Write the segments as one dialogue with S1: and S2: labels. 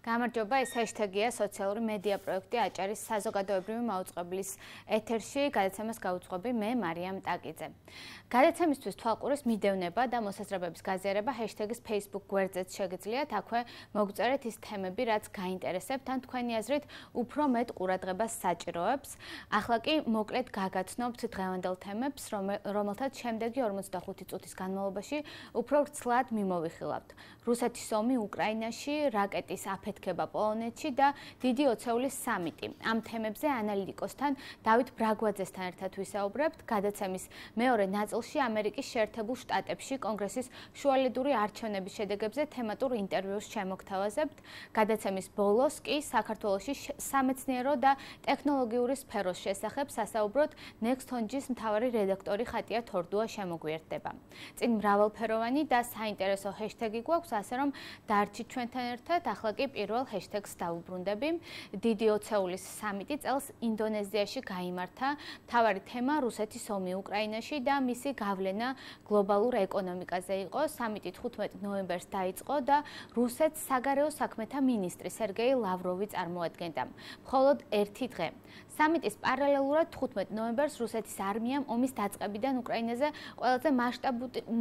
S1: გამარჯობა, ეს ჰეშტეგია სოციალური მედია პროექტი აჭარის საზოგადოებრივი მაუწყებლის ეთერში, გადაცემას გაუძღვები მე მარიამ ტაკიძე. გადაცემისთვის თვალყურის მიდევნება და მოსაზრებების გაზიარება ჰეშტეგის Facebook გვერდზეც შეგიძლიათ, აქვე მოგწერეთ ის თემები, რაც გაინტერესებთ, ან თქვენი აზრით უფრო მეტ ყურადღებას საჭიროებს. ახლა კი მოკლედ გაგაცნობთ დღევანდელ თემებს, რომელთაც შემდეგი 45 წუთის განმავლობაში უფრო ვრცლად მიმოვიხილავთ. რუსეთის ომი უკრაინაში, რაკეტის აფეთქება პოლონეთში და დიდი ოცეულის სამიტი. ამ თემებზე ანალიტიკოსთან დავით ბრაგვაძესთან ერთად ვისაუბრებთ. გადაცემის მეორე ნაწილში ამერიკის შეერთებულ შტატებში კონგრესის შუალედური არჩევნების შედეგებზე თემატურ ინტერვიუს შემოგთავაზებთ. გადაცემის ბოლოს კი საქართველოში სამეცნიერო და ტექნოლოგიური სფეროს შესახებ სასაუბროთ Nextonjis მთავარი რედაქტორი ხატია თორდუა შემოგვიერთდება. წინ მრავალფეროვანი და საინტერესო ჰეშტეგი გვაქვს, ასე რომ დარჩით ჩვენთან ერთად. ახლა კი პირველ ჰეშტეგს დავუბრუნდები. დიდი ოცეულის სამიტი წელს ინდონეზიაში გაიმართა. მთავარი თემა რუსეთის ომი უკრაინაში და მისი გავლენა გლობალურ ეკონომიკაზე იყო. სამიტი 15 ნოემბერს დაიწყო და რუსეთს საგარეო საქმეთა მინისტრი სერგეი ლავროვი წარმოადგენდა. მხოლოდ ერთი დღე. სამიტის პარალელურად 15 ნოემბერს რუსეთის არმიამ ომის დაწყებიდან უკრაინაზე ყველაზე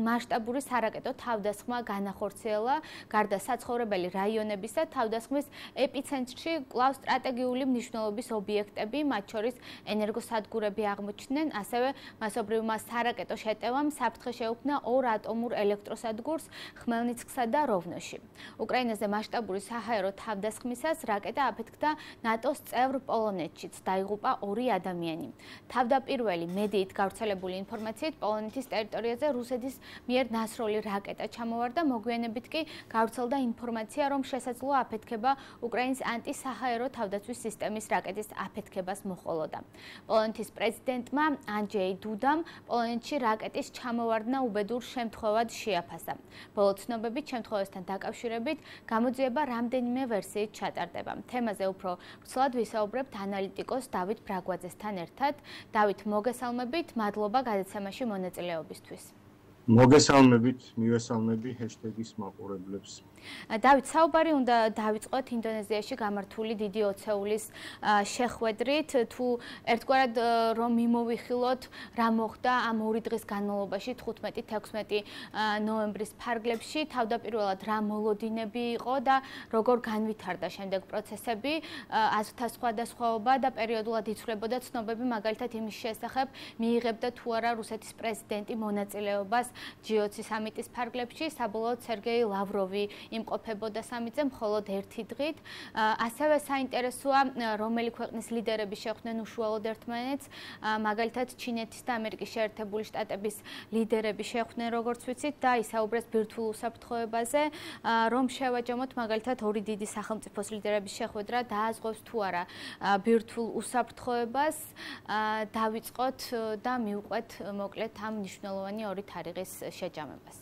S1: მასშტაბური სარაკეტო თავდასხმა განახორციელა. გარდა საცხოვრებელი რაიონებისა, თავდასხმის ეპიცენტრში კვლავ სტრატეგიული მნიშვნელობის ობიექტები, მათ შორის ენერგოსადგურები აღმოჩნდნენ, ასევე მასობრივმა სარაკეტო შეტევამ საფრთხე შეუქმნა 2 ატომურ ელექტროსადგურს ხმელნიცკსა და როვნოში. უკრაინაზე მასშტაბური საჰაერო თავდასხმისას რაკეტა აფეთქდა ნატოს წევრ პოლონეთშიც, დაიღუპა 2 ადამიანი. თავდაპირველი მედიით გავრცელებული ინფორმაციით პოლონეთის ტერიტორიაზე რუსეთის მიერ ნასროლი რაკეტა ჩამოვარდა, მოგვიანებით კი გავრცელდა ინფორმაცია, რომ შესაძლოა აფეთქება უკრაინის ანტისაჰაერო თავდაცვის სისტემის რაკეტის აფეთქებას მოჰყოლოდა. პოლონეთის პრეზიდენტმა ანჯეი დუდამ პოლონეთში რაკეტის ჩამოვარდნა უბედურ შემთხვევად შეაფასა. ბოლო ცნობებით შემთხვევასთან დაკავშირებით გამოძიება რამდენიმე ვერსიით ჩატარდება. თემაზე უფრო ვრცლად ვისაუბრებთ ანალიტიკოს დავით ბრაგვაძესთან ერთად. დავით, მოგესალმებით, მადლობა გადაცემაში მონაწილეობისთვის.
S2: მოგესალმებით, მივესალმები ჰეშტეგის მაყურებლებს.
S1: დავით, საუბარი უნდა დავიწყოთ ინდონეზიაში გამართული დიდი ოცეულის შეხვედრით. თუ ერთგვარად რომ მიმოვიხილოთ, რა მოხდა ამ 2 დღის განმავლობაში 15-16 ნოემბრის ფარგლებში, თავდაპირველად რა მოლოდინები იყო და როგორ განვითარდა შემდეგ პროცესები, აზრთა სხვადასხვაობა და პერიოდულად იცვლებოდა ცნობები, მაგალითად იმის შესახებ, მიიღებდა თუ არა რუსეთის პრეზიდენტი მონაწილეობას G20 სამიტის ფარგლებში, საბოლოოდ სერგეი ლავროვი იმყოფებოდა სამიტზე მხოლოდ ერთი დღით. ასევე საინტერესოა, რომელი ქვეყნის ლიდერები შეხვდნენ უშუალოდ ერთმანეთს, მაგალითად ჩინეთის და ამერიკის შეერთებული შტატების ლიდერები შეხვდნენ, როგორც ვიცით, და ისაუბრეს ბირთვულ უსაფრთხოებაზე, რომ შევაჯამოთ მაგალითად 2 დიდი სახელმწიფოს ლიდერების შეხვედრა დააზღვევს თუ არა ბირთვულ უსაფრთხოებას. დავიწყოთ და მივყვეთ მოკლედ ამ მნიშვნელოვანი 2 თარიღის შეჯამებას.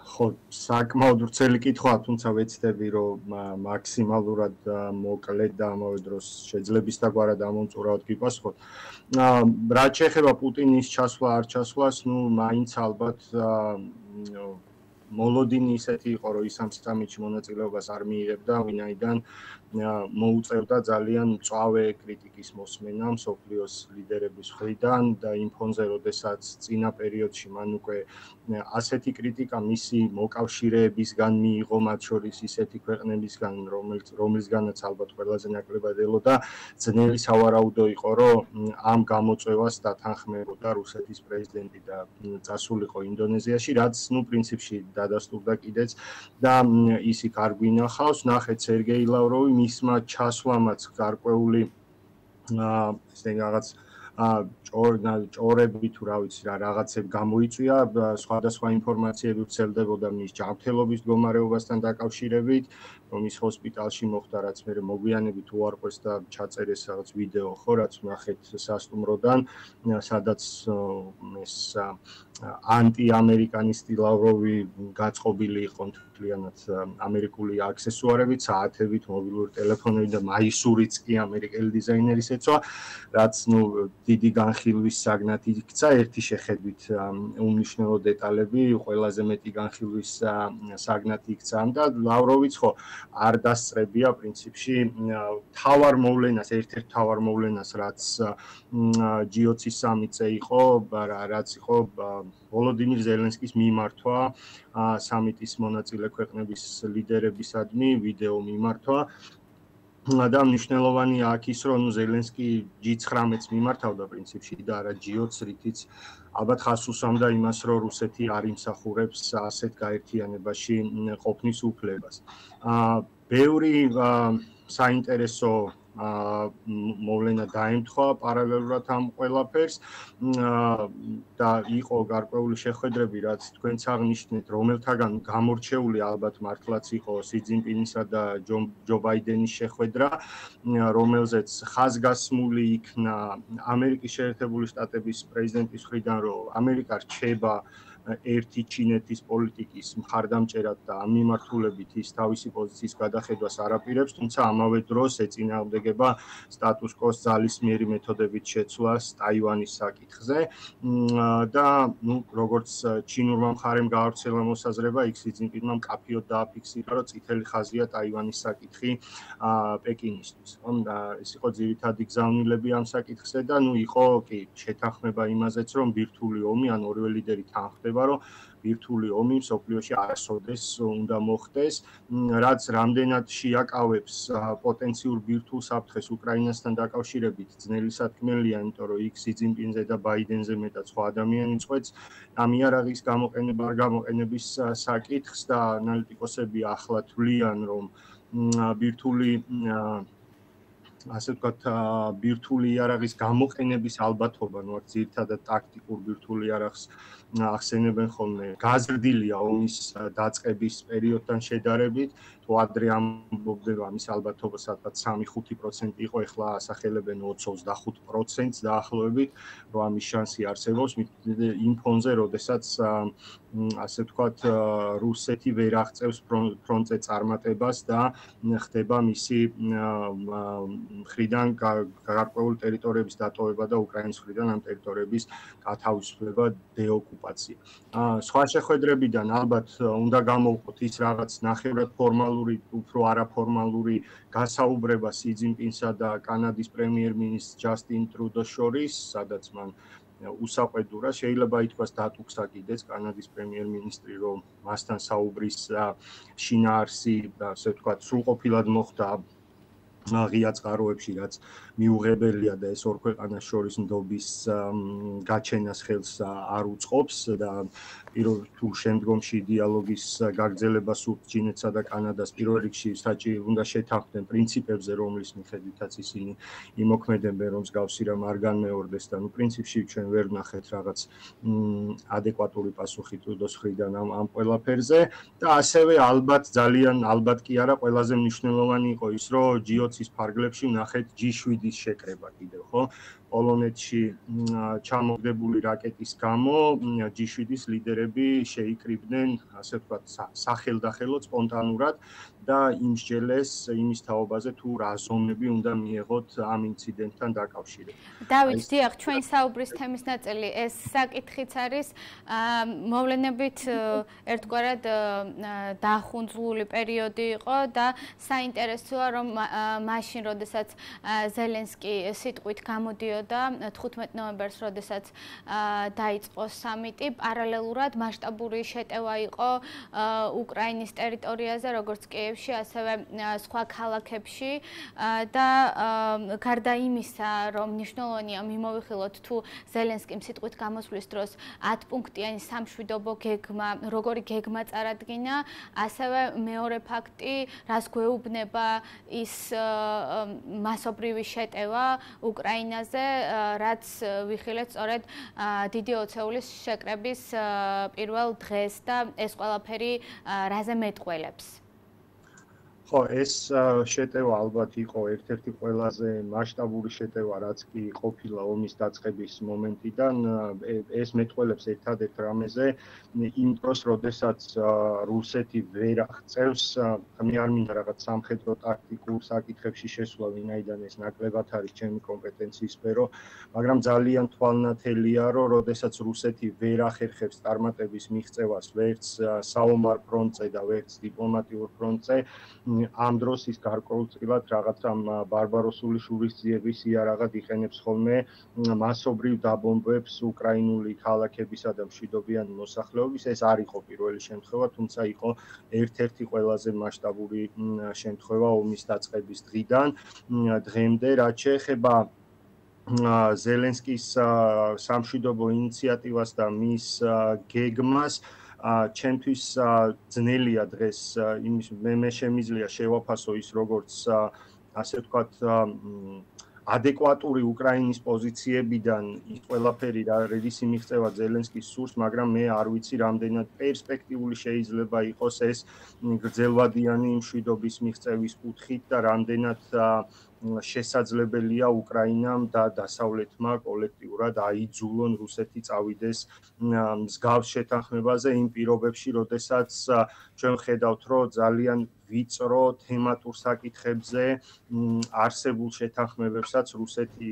S2: ხო, საკმაოდ ვრცელი კითხვაა, თუმცა ვეცდები, რომ მაქსიმალურად მოკლედ და ამავე დროს შეძლების დაგვარად ამომწურავად გიპასუხოთ. რაც შეეხება პუტინის ჩასვლა არ ჩასვლას, მაინც ალბათ მოლოდინი ისეთი იყო, რომ ის ამ სამიტში მონაწილეობას არ მიიღებდა, ვინაიდან მოუწევდა ძალიან მწვავე კრიტიკის მოსმენა მსოფლიოს ლიდერების მხრიდან და იმ ფონზე, როდესაც წინა პერიოდში მან უკვე ასეთი კრიტიკა მისი მოკავშირეებისგან მიიღო, მათ შორის ისეთი ქვეყნებისგან, რომლისგანაც ალბათ ყველაზე ნაკლებად ელოდა, ძნელი სავარაუდო იყო, რომ ამ გამოწვევას დათანხმებოდა რუსეთის პრეზიდენტი და წასულიყო ინდონეზიაში, რაც პრინციპში დადასტურდა კიდეც და ის იქ არ გვინახავს. ნახეთ, სერგეი ლავროვი მისმა ჩასვლამაც გარკვეული ესე რაღაც ჭორები თუ რა ვიცი რა რაღაცები გამოიწვია, სხვადასხვა ინფორმაციები ვრცელდებოდა მის ჯანმრთელობის მდგომარეობასთან დაკავშირებით, რომ ის ჰოსპიტალში მოხვდა, რაც მე მოგვიანებით უარყვეს და ჩაწერეს რაღაც ვიდეო, ხო, რაც ნახეთ სასტუმროდან, სადაც ეს ანტიამერიკანისტი ლავროვი გაწყობილი იყო მთლიანად ამერიკული აქსესუარებით, საათებით, მობილური ტელეფონებით და მაისურიც კი ამერიკელი დიზაინერის ეცვა. რაც დიდი განხილვის საგნად იქცა, ერთი შეხედვით უმნიშვნელო დეტალები ყველაზე მეტი განხილვის საგნად იქცა და ლავროვიც ხო არ დასწრებია პრინციპში თავარ მოვლენას, ერთ-ერთ თავარ მოვლენას, რაც G20 სამიტზე იყო, რაც იყო ვოლოდიმირ ზელენსკის მიმართვა სამიტის მონაწილე ქვეყნების ლიდერებისადმი ვიდეო მიმართვა და მნიშვნელოვანია აქ ის, რომ ზელენსკი G19-ს მიმართავდა პრინციპში და არა G20-ს, რითიც ალბათ ხაზს უსვამდა იმას, რომ რუსეთი არ იმსახურებს ასეთ გაერთიანებაში ყოფნის უფლებას. ბევრი საინტერესო მოვლენა დაემთხვა პარალელურად ამ ყველაფერს და იყო გარკვეული შეხვედრები, რაც თქვენც აღნიშნეთ, რომელთაგან გამორჩეული ალბათ მართლაც იყო სი ძინპინისა და ჯო ბაიდენის შეხვედრა, რომელზეც ხაზგასმული იქნა ამერიკის შეერთებული შტატების პრეზიდენტის მხრიდან, რომ ამერიკა რჩება ერთი ჩინეთის პოლიტიკის მხარდამჭერად და ამ მიმართულებით ის თავისი პოზიციის გადახედვას არ აპირებს, თუმცა ამავე დროს ეწინააღმდეგება სტატუს კოს ძალისმიერი მეთოდებით შეცვლას ტაივანის საკითხზე და როგორც ჩინურმა მხარემ გაავრცელა მოსაზრება, იქ სი ძინპინმა მკაფიოდ დააფიქსირა, რომ წითელი ხაზია ტაივანის საკითხი პეკინისთვის. ეს იყო ძირითადი გზავნილები ამ საკითხზე და იყო კი შეთანხმება იმაზეც, რომ ბირთვული ომი ან ორივე ლიდერი თანხმდება, რომ ბირთვული ომი მსოფლიოში არასოდეს უნდა მოხდეს, რაც რამდენად შეაკავებს პოტენციურ ბირთვულ საფრთხეს უკრაინასთან დაკავშირებით ძნელი სათქმელია, იმიტომ რომ იქ სი ძინპინზე და ბაიდენზე მეტად სხვა ადამიანი წყვეტს ამ იარაღის გამოყენება არ გამოყენების საკითხს და ანალიტიკოსები ახლა თვლიან, რომ ბირთვული ასე ვთქვათ, ბირთვული იარაღის გამოყენების ალბათობა, აქ ძირითადად ტაქტიკურ ბირთვულ იარაღს ახსენებენ ხოლმე, გაზრდილია ომის დაწყების პერიოდთან შედარებით, თუ ადრე ამბობდნენ ამის ალბათობა სადღაც 3-5% იყო, ეხლა ასახელებენ 20-25%-ს დაახლოებით, რომ ამის შანსი არსებობს იმ ფონზე, როდესაც ასე ვთქვათ, რუსეთი ვერ აღწევს ფრონტზე წარმატებას და ხდება მისი მხრიდან გარკვეული ტერიტორიების დატოვება და უკრაინის მხრიდან ამ ტერიტორიების გათავისუფლება, დეოკუპაცია. სხვა შეხვედრებიდან ალბათ უნდა გამოვყოთ ის რაღაც ნახევრად ფორმალური, უფრო არაფორმალური გასაუბრება სი ძინპინსა და კანადის პრემიერ-მინისტრ ჯასტინ ტრუდოს შორის, სადაც მან უსაყვედურა, შეიძლება ითქვას დატუქსა კიდეც კანადის პრემიერ-მინისტრი, რომ მასთან საუბრის შინაარსი, ასე ვთქვათ, სრულყოფილად მოხდა ღია წყაროებში, რაც მიუღებელია და ეს ორ ქვეყანას შორის ნდობის გაჩენას ხელს არ უწყობს და თუ შემდგომში დიალოგის გაგრძელება სურთ ჩინეთსა და კანადას პირველ რიგში საჭირო უნდა შეთანხმდნენ პრინციპებზე, რომლის მიხედვითაც ისინი იმოქმედებენ, რომ მსგავსი რამ არ განმეორდეს და პრინციპში ჩვენ ვერ ვნახეთ რაღაც ადეკვატური პასუხი ტრუდოს მხრიდან ამ ყველაფერზე და ასევე ძალიან ალბათ კი არა, ყველაზე მნიშვნელოვანი იყო ის, რომ G20-ის ფარგლებში ვნახეთ G7-ის შეკრება კიდევ, ხო? პოლონეთში ჩამოგდებული რაკეტის გამო G7-ის ლიდერები შეიკრიბნენ, ასე ვთქვათ, სახელდახელოდ სპონტანურად და იმსჯელეს იმის თაობაზე, თუ რა ზომები უნდა მიეღოთ ამ ინციდენტთან დაკავშირებით.
S1: დავით, დიახ, ჩვენ საუბრის თემის ნაწილი ეს საკითხიც არის მოვლენებით ერთგვარად დახუნძლული პერიოდი იყო და საინტერესოა, რომ მაშინ, როდესაც ზელენსკი სიტყვით გამოდიოდა 15 ნოემბერს, როდესაც დაიწყო სამიტი, პარალელურად მასშტაბური შეტევა იყო უკრაინის ტერიტორიაზე, როგორც კიევში, ასევე სხვა ქალაქებში და გარდა იმისა, რომ მნიშვნელოვანია მიმოვიხილოთ, თუ ზელენსკიმ სიტყვით გამოსვლის დროს 10 პუნქტიანი სამშვიდობო გეგმა, როგორი გეგმა წარადგინა, ასევე მეორე ფაქტი, რას გვეუბნება ის მასობრივი შეტევა უკრაინაზე, რაც ვიხილეთ სწორედ დიდი ოცეულის შეკრების პირველ დღეს და ეს ყველაფერი რაზე მეტყველებს?
S2: ხო, ეს შეტევა ალბათ იყო ერთ-ერთი ყველაზე მასშტაბური შეტევა, რაც კი ყოფილა ომის დაწყების მომენტიდან. ეს მეტყველებს ერთადერთ რამეზე იმ დროს, როდესაც რუსეთი ვერ აღწევს, მე არ მინდა რაღაც სამხედრო ტაქტიკურ საკითხებში შესვლა, ვინაიდან ეს ნაკლებად არის ჩემი კომპეტენციის სფერო, მაგრამ ძალიან თვალნათელია, რომ როდესაც რუსეთი ვერ ახერხებს წარმატების მიღწევას ვერც საომარ ფრონტზე და ვერც დიპლომატიურ ფრონტზე, ამ დროს ის გარკვეულწილად რაღაცა ბარბაროსული შურისძიების იარაღად იყენებს ხოლმე მასობრივ დაბომბვებს უკრაინული ქალაქებისა და მშვიდობიანი მოსახლეობის. ეს არ იყო პირველი შემთხვევა, თუმცა იყო ერთ-ერთი ყველაზე მასშტაბური შემთხვევა ომის დაწყების დღიდან დღემდე, რაც შეეხება ზელენსკის სამშვიდობო ინიციატივას და მის გეგმას, ჩემთვის ძნელია დღეს იმის მე შემიძლია შევაფასო ის როგორც ასე ვთქვათ ადეკვატური უკრაინის პოზიციებიდან ის ყველაფერი რისი მიღწევა ზელენსკის სურს, მაგრამ მე არ ვიცი რამდენად პერსპექტიული შეიძლება იყოს ეს გრძელვადიანი მშვიდობის მიღწევის კუთხით და რამდენად შესაძლებელია უკრაინამ და დასავლეთმა კოლექტიურად აიძულონ რუსეთი წავიდეს მსგავს შეთანხმებაზე იმ პირობებში, როდესაც ჩვენ ხედავთ, რომ ძალიან ვიწრო თემატურ საკითხებზე არსებულ შეთანხმებებსაც რუსეთი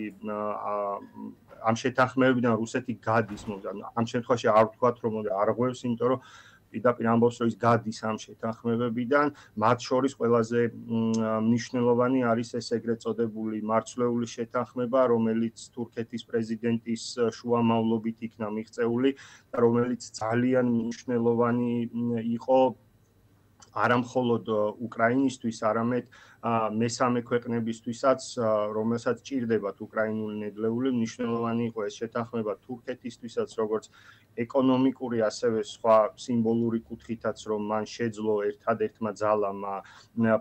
S2: ამ შეთანხმებებიდან რუსეთი გადის, ამ შემთხვევაში არ ვთქვათ, რომ არღვევს, იმიტომ რომ პირდაპირ ამბობს, რომ ის გადის ამ შეთანხმებებიდან, მათ შორის ყველაზე მნიშვნელოვანი არის ეს ეგრეთ წოდებული მარცვლეული შეთანხმება, რომელიც თურქეთის პრეზიდენტის შუამავლობით იქნა მიღწეული და რომელიც ძალიან მნიშვნელოვანი იყო არა მხოლოდ უკრაინისთვის, არამედ მესამე ქვეყნებისთვისაც, რომელსაც ჭირდებათ უკრაინული ნედლეული, მნიშვნელოვანი იყო ეს შეთანხმება თურქეთისთვისაც, როგორც ეკონომიკური, ასევე სხვა სიმბოლური კუთხითაც, რომ მან შეძლო ერთადერთმა ძალამ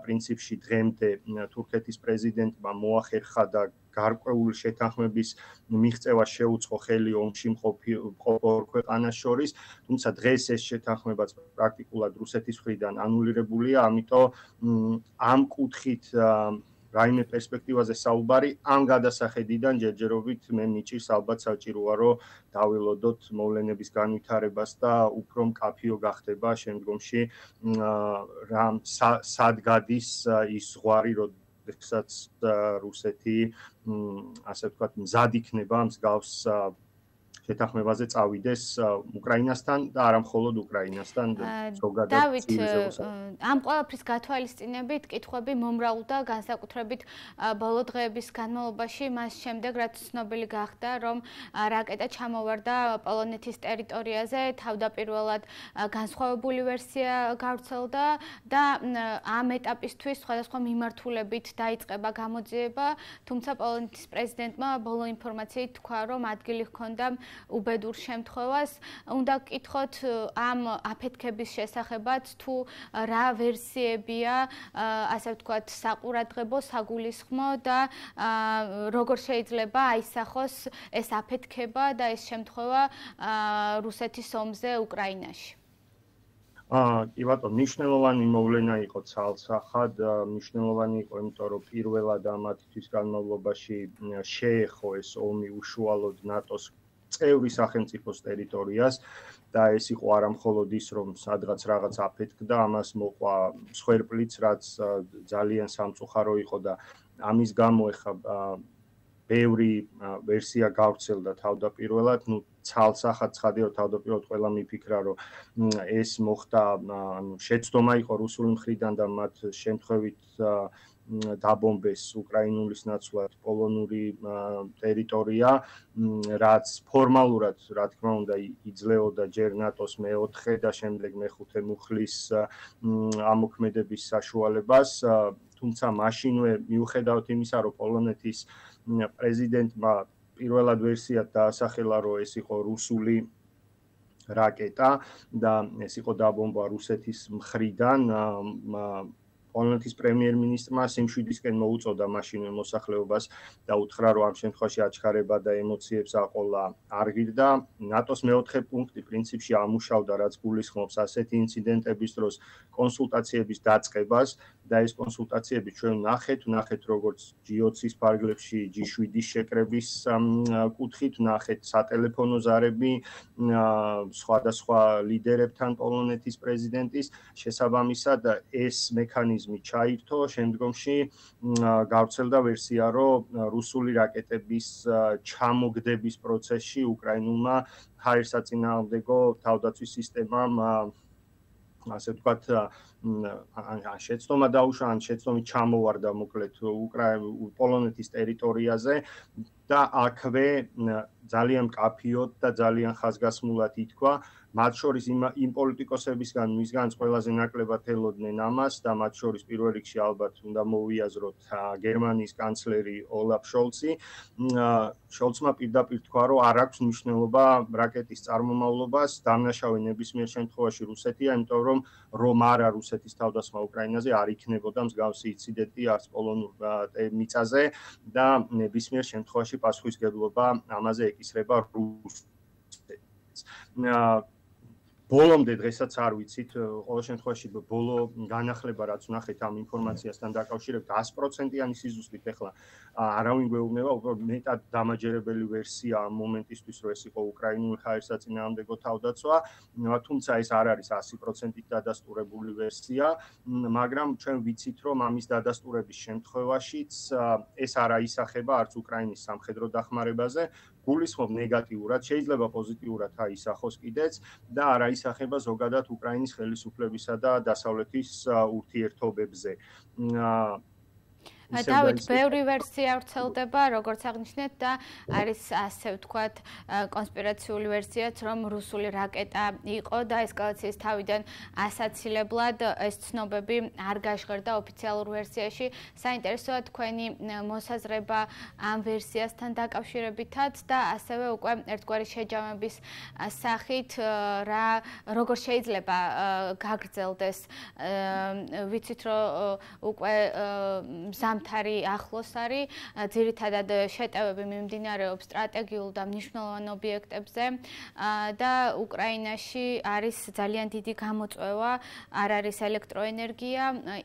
S2: პრინციპში დღემდე თურქეთის პრეზიდენტმა მოახერხა და გარკვეული შეთანხმების მიღწევა შეუწყო ხელი ომში მყოფ ორ ქვეყანას შორის, თუმცა დღეს ეს შეთანხმებაც პრაქტიკულად რუსეთის მხრიდან ანულირებულია, ამიტომ ამ კუთხით რაიმე პერსპექტივაზე საუბარი ამ გადასახედიდან ჯერჯერობით მე მიჭირს ალბათ საჭიროა რომ დავილოდოთ მოვლენების განვითარებას და უფრო მკაფიო გახდება შემდგომში სად გადის ის ზღვარი, როდესაც რუსეთი ასე ვთქვათ მზად იქნება მსგავს შეთანხმებაზე წავიდეს უკრაინასთან და არა მხოლოდ უკრაინასთან, ზოგადად
S1: დავით, ამ ყველაფრის გათვალისწინებით კითხვები მომრავლდა განსაკუთრებით ბოლო დღეების განმავლობაში, მას შემდეგ რაც ცნობილი გახდა, რომ რაკეტა ჩამოვარდა პოლონეთის ტერიტორიაზე, თავდაპირველად განსხვავებული ვერსია გავრცელდა და ამ ეტაპისთვის სხვადასხვა მიმართულებით დაიწყება გამოძიება, თუმცა პოლონეთის პრეზიდენტმა ბოლო ინფორმაციით თქვა, რომ ადგილი ჰქონდა უბედურ შემთხვევას. უნდა გკითხოთ ამ აფეთქების შესახებაც თუ რა ვერსიებია, ასე ვთქვათ, საყურადღებო, საგულისხმო და როგორ შეიძლება აისახოს ეს აფეთქება და ეს შემთხვევა რუსეთის ომზე უკრაინაში.
S2: კი ბატონო, მნიშვნელოვანი მოვლენა იყო ცალსახად, მნიშვნელოვანი იყო, იმიტომ რომ პირველად ამათი თვის განმავლობაში შეეხო ეს ომი უშუალოდ ნატოს წევრი სახელმწიფოს ტერიტორიას და ეს იყო არა მხოლოდ ის, რომ სადღაც რაღაც აფეთქდა, ამას მოყვა მსხვერპლიც, რაც ძალიან სამწუხარო იყო და ამის გამო ეხა ბევრი ვერსია გავრცელდა თავდაპირველად, ცალსახად ცხადია, რომ თავდაპირველად ყველა მიფიქრა, რომ ეს მოხდა, შეცდომა იყო რუსული მხრიდან და მათ შემთხვევით დაბომბეს უკრაინულის ნაცვლად პოლონური ტერიტორია, რაც ფორმალურად, რა თქმა უნდა, იძლეოდა ჯერ ნატოს მეოთხე და შემდეგ მეხუთე მუხლის ამოქმედების საშუალებას, თუმცა მაშინვე მიუხედავად იმისა, რომ პოლონეთის პრეზიდენტმა პირველად ვერსიად დაასახელა, რომ ეს იყო რუსული რაკეტა და ეს იყო დაბომბვა რუსეთის მხრიდან, პოლონეთის პრემიერ-მინისტრმა სიმშვიდისკენ მოუწოდა მაშინვე მოსახლეობას და უთხრა, რომ ამ შემთხვევაში აჩქარება და ემოციებს აყოლა არ ღირდა. ნატოს მეოთხე პუნქტი პრინციპში ამუშავდა, რაც გულისხმობს ასეთი ინციდენტების დროს კონსულტაციების დაწყებას და ეს კონსულტაციები ჩვენ ვნახეთ როგორც G20-ის ფარგლებში G7-ის შეკრების კუთხით, ვნახეთ სატელეფონო ზარები სხვადასხვა ლიდერებთან პოლონეთის პრეზიდენტის, შესაბამისად ეს მექანიზმი ჩაირთო, შემდგომში გავრცელდა ვერსია, რომ რუსული რაკეტების ჩამოგდების პროცესში უკრაინულმა ჰაერსაწინააღმდეგო თავდაცვის სისტემამ ასე ვთქვათ, ან შეცდომა დაუშვა, ან შეცდომით ჩამოვარდა მოკლედ პოლონეთის ტერიტორიაზე და აქვე ძალიან მკაფიოდ და ძალიან ხაზგასმულად ითქვა, მათ შორის იმ პოლიტიკოსებისგან, ვისგანაც ყველაზე ნაკლებად ელოდნენ ამას და მათ შორის პირველ რიგში ალბათ უნდა მოვიაზროთ გერმანიის კანცლერი ოლაფ შოლცი. შოლცმა პირდაპირ თქვა, რომ არ აქვს მნიშვნელობა რაკეტის წარმომავლობას, დამნაშავე ნებისმიერ შემთხვევაში რუსეთია, იმიტომ რომ არა რუსეთის თავდასხმა უკრაინაზე არ იქნებოდა მსგავსი ინციდენტი არც პოლონურ მიწაზე და ნებისმიერ შემთხვევაში პასუხისგებლობა ამაზე ეკისრება რუსეთს. ბოლომდე დღესაც არ ვიცით, ყოველ შემთხვევაში ბოლო განახლება რაც ვნახეთ ამ ინფორმაციასთან დაკავშირებით 100%-იანი სიზუსტით ახლა არავინ გვეუბნება, უფრო მეტად დამაჯერებელი ვერსია ამ მომენტისთვის, რომ ეს იყო უკრაინული ჰაერსაწინააღმდეგო თავდაცვა, თუმცა ეს არ არის 100%-ით დადასტურებული ვერსია, მაგრამ ჩვენ ვიცით, რომ ამის დადასტურების შემთხვევაშიც ეს არ აისახება არც უკრაინის სამხედრო დახმარებაზე, გულისხმობ ნეგატიურად, შეიძლება პოზიტიურად აისახოს კიდეც და არ აისახება ზოგადად უკრაინის ხელისუფლებისა და დასავლეთის ურთიერთობებზე.
S1: დავით, ბევრი ვერსია ვრცელდება, როგორც აღნიშნეთ და არის ასე ვთქვათ კონსპირაციული ვერსიაც, რომ რუსული რაკეტა იყო და ესკალაციის თავიდან ასაცილებლად ეს ცნობები არ გაშღერდა ოფიციალურ ვერსიაში. საინტერესოა თქვენი მოსაზრება ამ ვერსიასთან დაკავშირებითაც და ასევე უკვე ერთგვარი შეჯამების სახით როგორ შეიძლება გაგრძელდეს. ვიცით, რომ უკვე ზამთარი ახლოს არის, ძირითადად შეტევები მიმდინარეობს სტრატეგიულ და მნიშვნელოვან ობიექტებზე და უკრაინაში არის ძალიან დიდი გამოწვევა, არ არის ელექტროენერგია,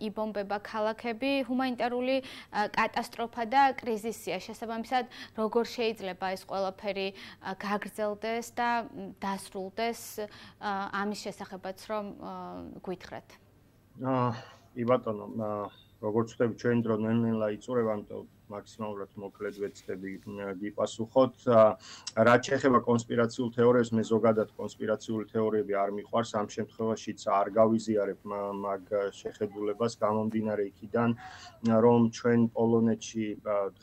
S1: იბომბება ქალაქები, ჰუმანიტარული კატასტროფა და კრიზისია. შესაბამისად, როგორ შეიძლება ეს ყველაფერი გაგრძელდეს და დასრულდეს ამის შესახებაც რომ გვითხრათ.
S2: კი ბატონო, როგორც ვთქვი, ჩვენი დრო ნელ-ნელა იწურება, ამიტომ მაქსიმალურად მოკლედ ვეცდები გიპასუხოთ. რაც შეეხება კონსპირაციულ თეორიებს, მე ზოგადად კონსპირაციული თეორიები არ მიყვარს, ამ შემთხვევაშიც არ გავიზიარებ მაგ შეხედულებას გამომდინარე იქიდან, რომ ჩვენ პოლონეთში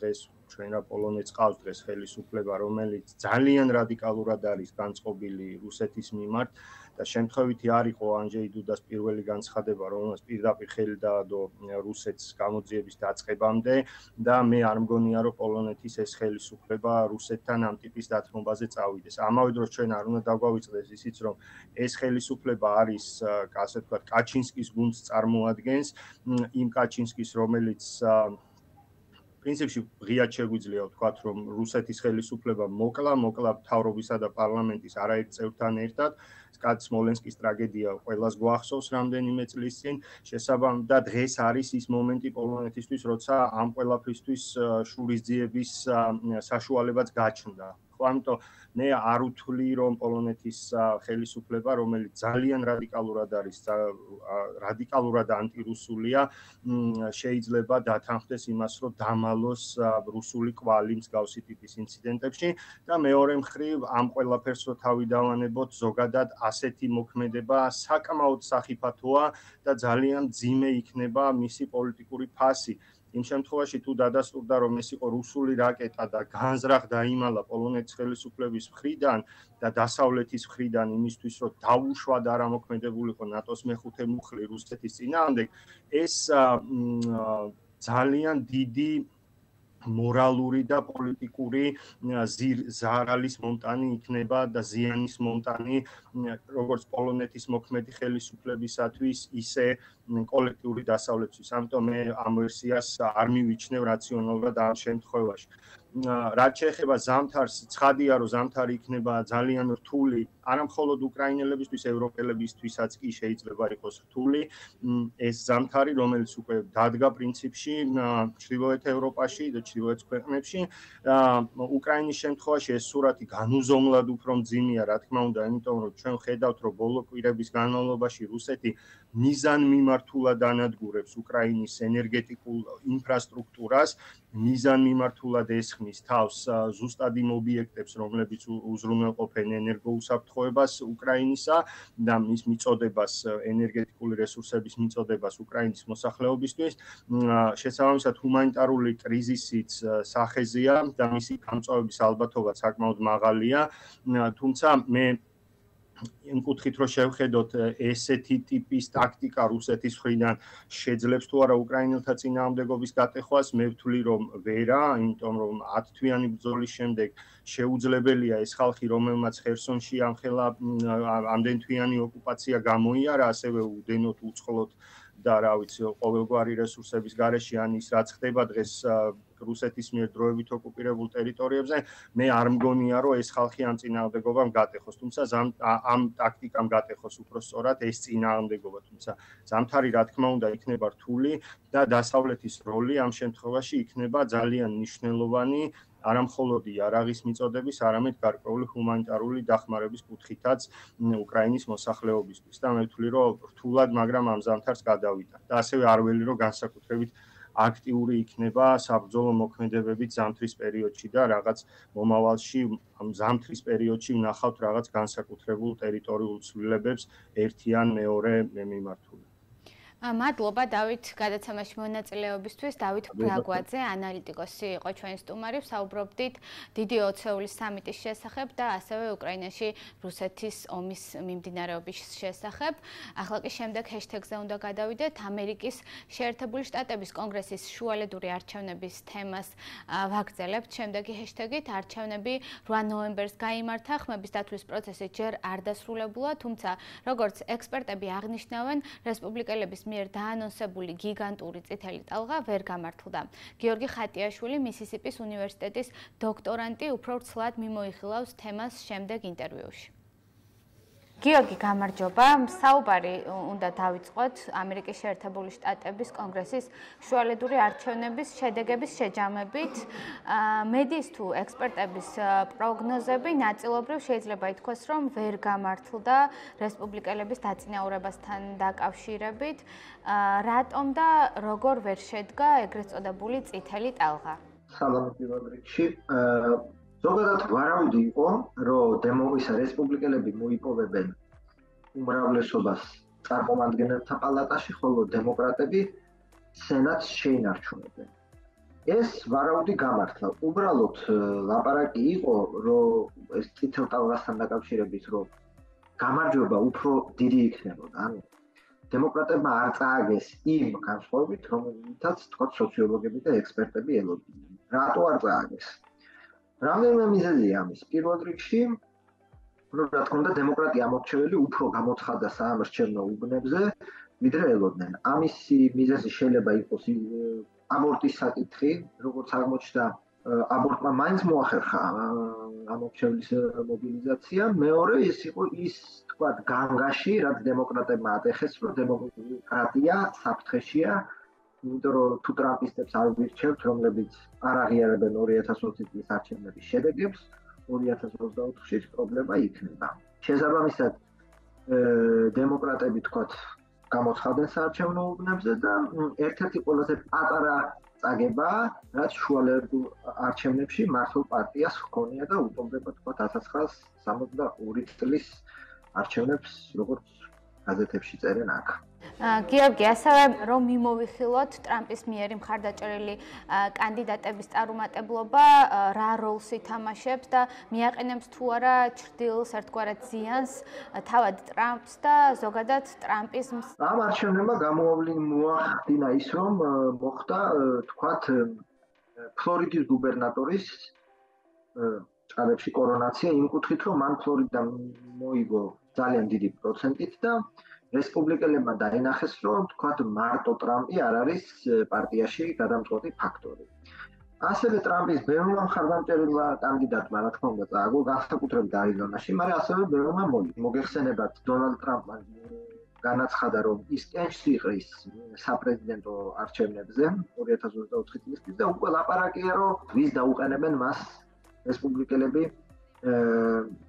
S2: დღეს ჩვენ რა პოლონეთს ყავს დღეს ხელისუფლება, რომელიც ძალიან რადიკალურად არის განწყობილი რუსეთის მიმართ და შემთხვევითი არ იყო ანჯეი დუდას პირველი განცხადება, რომელსაც პირდაპირ ხელი დაადო რუსეთს გამოძიების დაწყებამდე და მე არ მგონია, რომ პოლონეთის ეს ხელისუფლება რუსეთთან ამ ტიპის დათმობაზე წავიდეს. ამავე დროს ჩვენ არ უნდა დაგვავიწყდეს ისიც, რომ ეს ხელისუფლება არის, ასე ვთქვათ, კაჩინსკის გუნდს წარმოადგენს, იმ კაჩინსკის, რომელიც პრინციპში ღიად შეგვიძლია ვთქვათ, რომ რუსეთის ხელისუფლება მოკლა მთავრობისა და პარლამენტის არაერთ წევრთან ერთად. სმოლენსკის ტრაგედია ყველას გვახსოვს რამდენიმე წლის წინ. შესაბამისად, დღეს არის ის მომენტი პოლონეთისთვის, როცა ამ ყველაფრისთვის შურისძიების საშუალებაც გაჩნდა. ამიტომ მე არ უთვლი, რომ პოლონეთის ხელისუფლება, რომელიც ძალიან რადიკალურად ანტირუსულია, შეიძლება დათანხმდეს იმას, რომ დამალოს რუსული კვალი მსგავსი ტიპის ინციდენტებში და მეორე მხრივ ამ ყველაფერს რო თავი დავანებოთ, ზოგადად ასეთი მოქმედება საკმაოდ სახიფათოა და ძალიან მძიმე იქნება მისი პოლიტიკური ფასი. იმ შემთხვევაში თუ დადასტურდა, რომ ეს იყო რუსული რაკეტა და განზრახ დაიმალა პოლონეთის ხელისუფლების მხრიდან და დასავლეთის მხრიდან იმისთვის, რომ დაუშვად არ ამოქმედებულიყო ნატოს მეხუთე მუხლი რუსეთის წინააღმდეგ, ეს ძალიან დიდი მორალური და პოლიტიკური ზარალის მომტანი იქნება და ზიანის მომტანი როგორც პოლონეთის მოქმედი ხელისუფლებისათვის, ისე კოლექტიური დასავლეთთვის. ამიტომ მე ამ ვერსიას არ მივიჩნევ რაციონალურად ამ შემთხვევაში. რაც შეეხება ზამთარს, ცხადია, რომ ზამთარი იქნება ძალიან რთული, არა მხოლოდ უკრაინელებისთვის, ევროპელებისთვისაც კი შეიძლება იყოს რთული. ეს ზამთარი, რომელიც უკვე დადგა პრინციპში ჩრდილოეთ ევროპაში და ჩრდილოეთ ქვეყნებში, უკრაინის შემთხვევაში ეს სურათი განუზომლად უფრო მძიმეა, რა თქმა უნდა, იმიტომ რომ ჩვენ ხედავთ, რომ ბოლო კვირების განმავლობაში რუსეთი მიზანმიმართულად ანადგურებს უკრაინის ენერგეტიკულ ინფრასტრუქტურას, მიზანმიმართულად ესხმის თავს ზუსტად იმ ობიექტებს, რომლებიც უზრუნველყოფენ ენერგოუსაფრთხოებას უკრაინისა და მის მიწოდებას, ენერგეტიკული რესურსების მიწოდებას უკრაინის მოსახლეობისთვის. შესაბამისად, ჰუმანიტარული კრიზისიც სახეზეა და მისი გამწვავების ალბათობა საკმაოდ მაღალია, თუმცა მე იმ კუთხით რომ შევხედოთ ესეთი ტიპის ტაქტიკა რუსეთის მხრიდან შეძლებს თუ არა უკრაინელთა წინააღმდეგობის გატეხვას, მე ვთვლი რომ ვერა, იმიტომ რომ 10 თვიანი ბრძოლის შემდეგ შეუძლებელია ეს ხალხი, რომელმაც ხერსონში ამხელა ამდენ თვიანი ოკუპაცია გამოიარა, ასევე უდენოდ უწყლოდ და რა ვიცი, ყოველგვარი რესურსების გარეშე ან ის რაც ხდება დღეს რუსეთის მიერ დროებით ოკუპირებულ ტერიტორიებზე, მე არ მგონია, რომ ეს ხალხი ამ წინააღმდეგობამ გატეხოს, თუმცა ამ ტაქტიკამ გატეხოს უფრო სწორად ეს წინააღმდეგობა, თუმცა ზამთარი რა თქმა უნდა იქნება რთული და დასავლეთის როლი ამ შემთხვევაში იქნება ძალიან მნიშვნელოვანი, არა მხოლოდ იარაღის მიწოდების, არამედ გარკვეული ჰუმანიტარული დახმარების კუთხითაც უკრაინის მოსახლეობისთვის და მე ვთვლი, რომ რთულად, მაგრამ ამ ზამთარს გადავიდა და ასევე არ ველი, რომ განსაკუთრებით აქტიური იქნება საბრძოლო მოქმედებებით ზამთრის პერიოდში და რაღაც მომავალში ამ ზამთრის პერიოდში ვნახავთ რაღაც განსაკუთრებულ ტერიტორიულ ცვლილებებს ერთი ან მეორე მიმართული.
S1: მადლობა დავით გადაცემაში მონაწილეობისთვის. დავით ბრაგვაძე, ანალიტიკოსი იყო ჩვენი სტუმარი, ვსაუბრობდით დიდი ოცეულის სამიტის შესახებ და ასევე უკრაინაში რუსეთის ომის მიმდინარეობის შესახებ. ახლა კი შემდეგ ჰეშტეგზე უნდა გადავიდეთ. ამერიკის შეერთებული შტატების კონგრესის შუალედური არჩევნების თემას ვაგრძელებთ. შემდეგი ჰეშტეგით არჩევნები 8 ნოემბერს გაიმართა. ხმების დათვლის პროცესი ჯერ არ დასრულებულა, თუმცა როგორც ექსპერტები აღნიშნავენ, რესპუბლიკელების მიერ დაანონსებული გიგანტური წითელი ტალღა ვერ გამართლდა. გიორგი ხატიაშვილი, მისისიპის უნივერსიტეტის დოქტორანტი, უფრო ცლად მიმოიხილავს თემას შემდეგ ინტერვიუში. გიორგი, გამარჯობა. საუბარი უნდა დავიწყოთ ამერიკის შეერთებული შტატების კონგრესის შუალედური არჩევნების შედეგების შეჯამებით. მედიის თუ ექსპერტების პროგნოზები ნაწილობრივ შეიძლება ითქვას, რომ ვერ გამართლდა რესპუბლიკელების დაწინაურებასთან დაკავშირებით. რატომ და როგორ ვერ შედგა ეგრეთ წოდებული წითელი ტალღა?
S3: სალამი პირველ რიგში. ზოგადად ვარავითი იყო, რომ რესპუბლიკელები მოიპოვებენ უმრავლესობას წარმომადგენელთა პალატაში, ხოლო დემოკრატები სენატს შეინარჩუნებენ. ეს ვარავითი გამართლა. უბრალოდ ლაპარაკი იყო, რომ ეს წითელ ტალღასთან დაკავშირებით, რომ გამარჯვება უფრო დიდი იქნებოდა. ანუ დემოკრატებმა არ წააგეს იმ განსხვავებით, რომელთაც თქვა სოციოლოგები და ექსპერტები ელოდნენ. რატო არ წააგეს? რამდენიმე მიზეზია ამის. პირველ რიგში, რა თქმა უნდა, დემოკრატია ამორჩეველი უფრო გამოცხადდა საამორჩევნო უბნებზე, ვიდრე ელოდნენ. ამისი მიზეზი შეიძლება იყოს აბორტის საკითხი, როგორც აღმოჩნდა, აბორტმა მაინც მოახერხა ამორჩევლის მობილიზაცია. მეორე ის იყო ის, თქვა, განგაში, რაც დემოკრატებმა ატეხეს, რომ დემოკრატია საფრთხეშია. იმიტომ რომ თუ ტრამპისტებს არ ვირჩევთ, რომლებიც არ აღიარებენ 2020 წლის არჩევნების შედეგებს, 2024-ში პრობლემა იქნება. შესაბამისად, დემოკრატები თქვათ გამოცხადენ საარჩევნო უბნებზე და ერთ-ერთი ყველაზე პატარა წაგება, რაც შუალედურ არჩევნებში მართლ პარტიას ჰქონია და უტოლდება თქვათ 1962 წლის არჩევნებს, როგორც გაზეთებში წერენ აქ.
S1: გიორგი, ასევე რომ მიმოვიხილოთ ტრამპის მიერ მხარდაჭერილი კანდიდატების წარუმატებლობა, რა როლს ითამაშებს და მიაყენებს თუ არა ჩრდილს ერთგვარად ზიანს თავად ტრამპს და ზოგადად ტრამპის
S3: ამ არჩევნებმა მოახდინა ის, რომ მოხდა თქვათ ფლორიდის გუბერნატორის ჭალებში კორონაცია იმ კუთხით, რომ მან ფლორიდა მოიგო ძალიან დიდი პროცენტით და რესპუბლიკელებმა დაინახეს, რომ თქვათ მარტო ტრამპი არ არის პარტიაში გადამწყვეტი ფაქტორი. ასევე ტრამპის ბევრმა მხარდამჭერებმა კანდიდატმა, რა თქმა უნდა, წააგო განსაკუთრებით არიზონაში, მაგრამ ასევე ბევრმა მოგეხსენებათ დონალდ ტრამპმა განაცხადა, რომ ის კენჭს იყრის საპრეზიდენტო არჩევნებზე 2024 წლის და უკვე ლაპარაკია, რომ ვის დაუყენებენ მას რესპუბლიკელები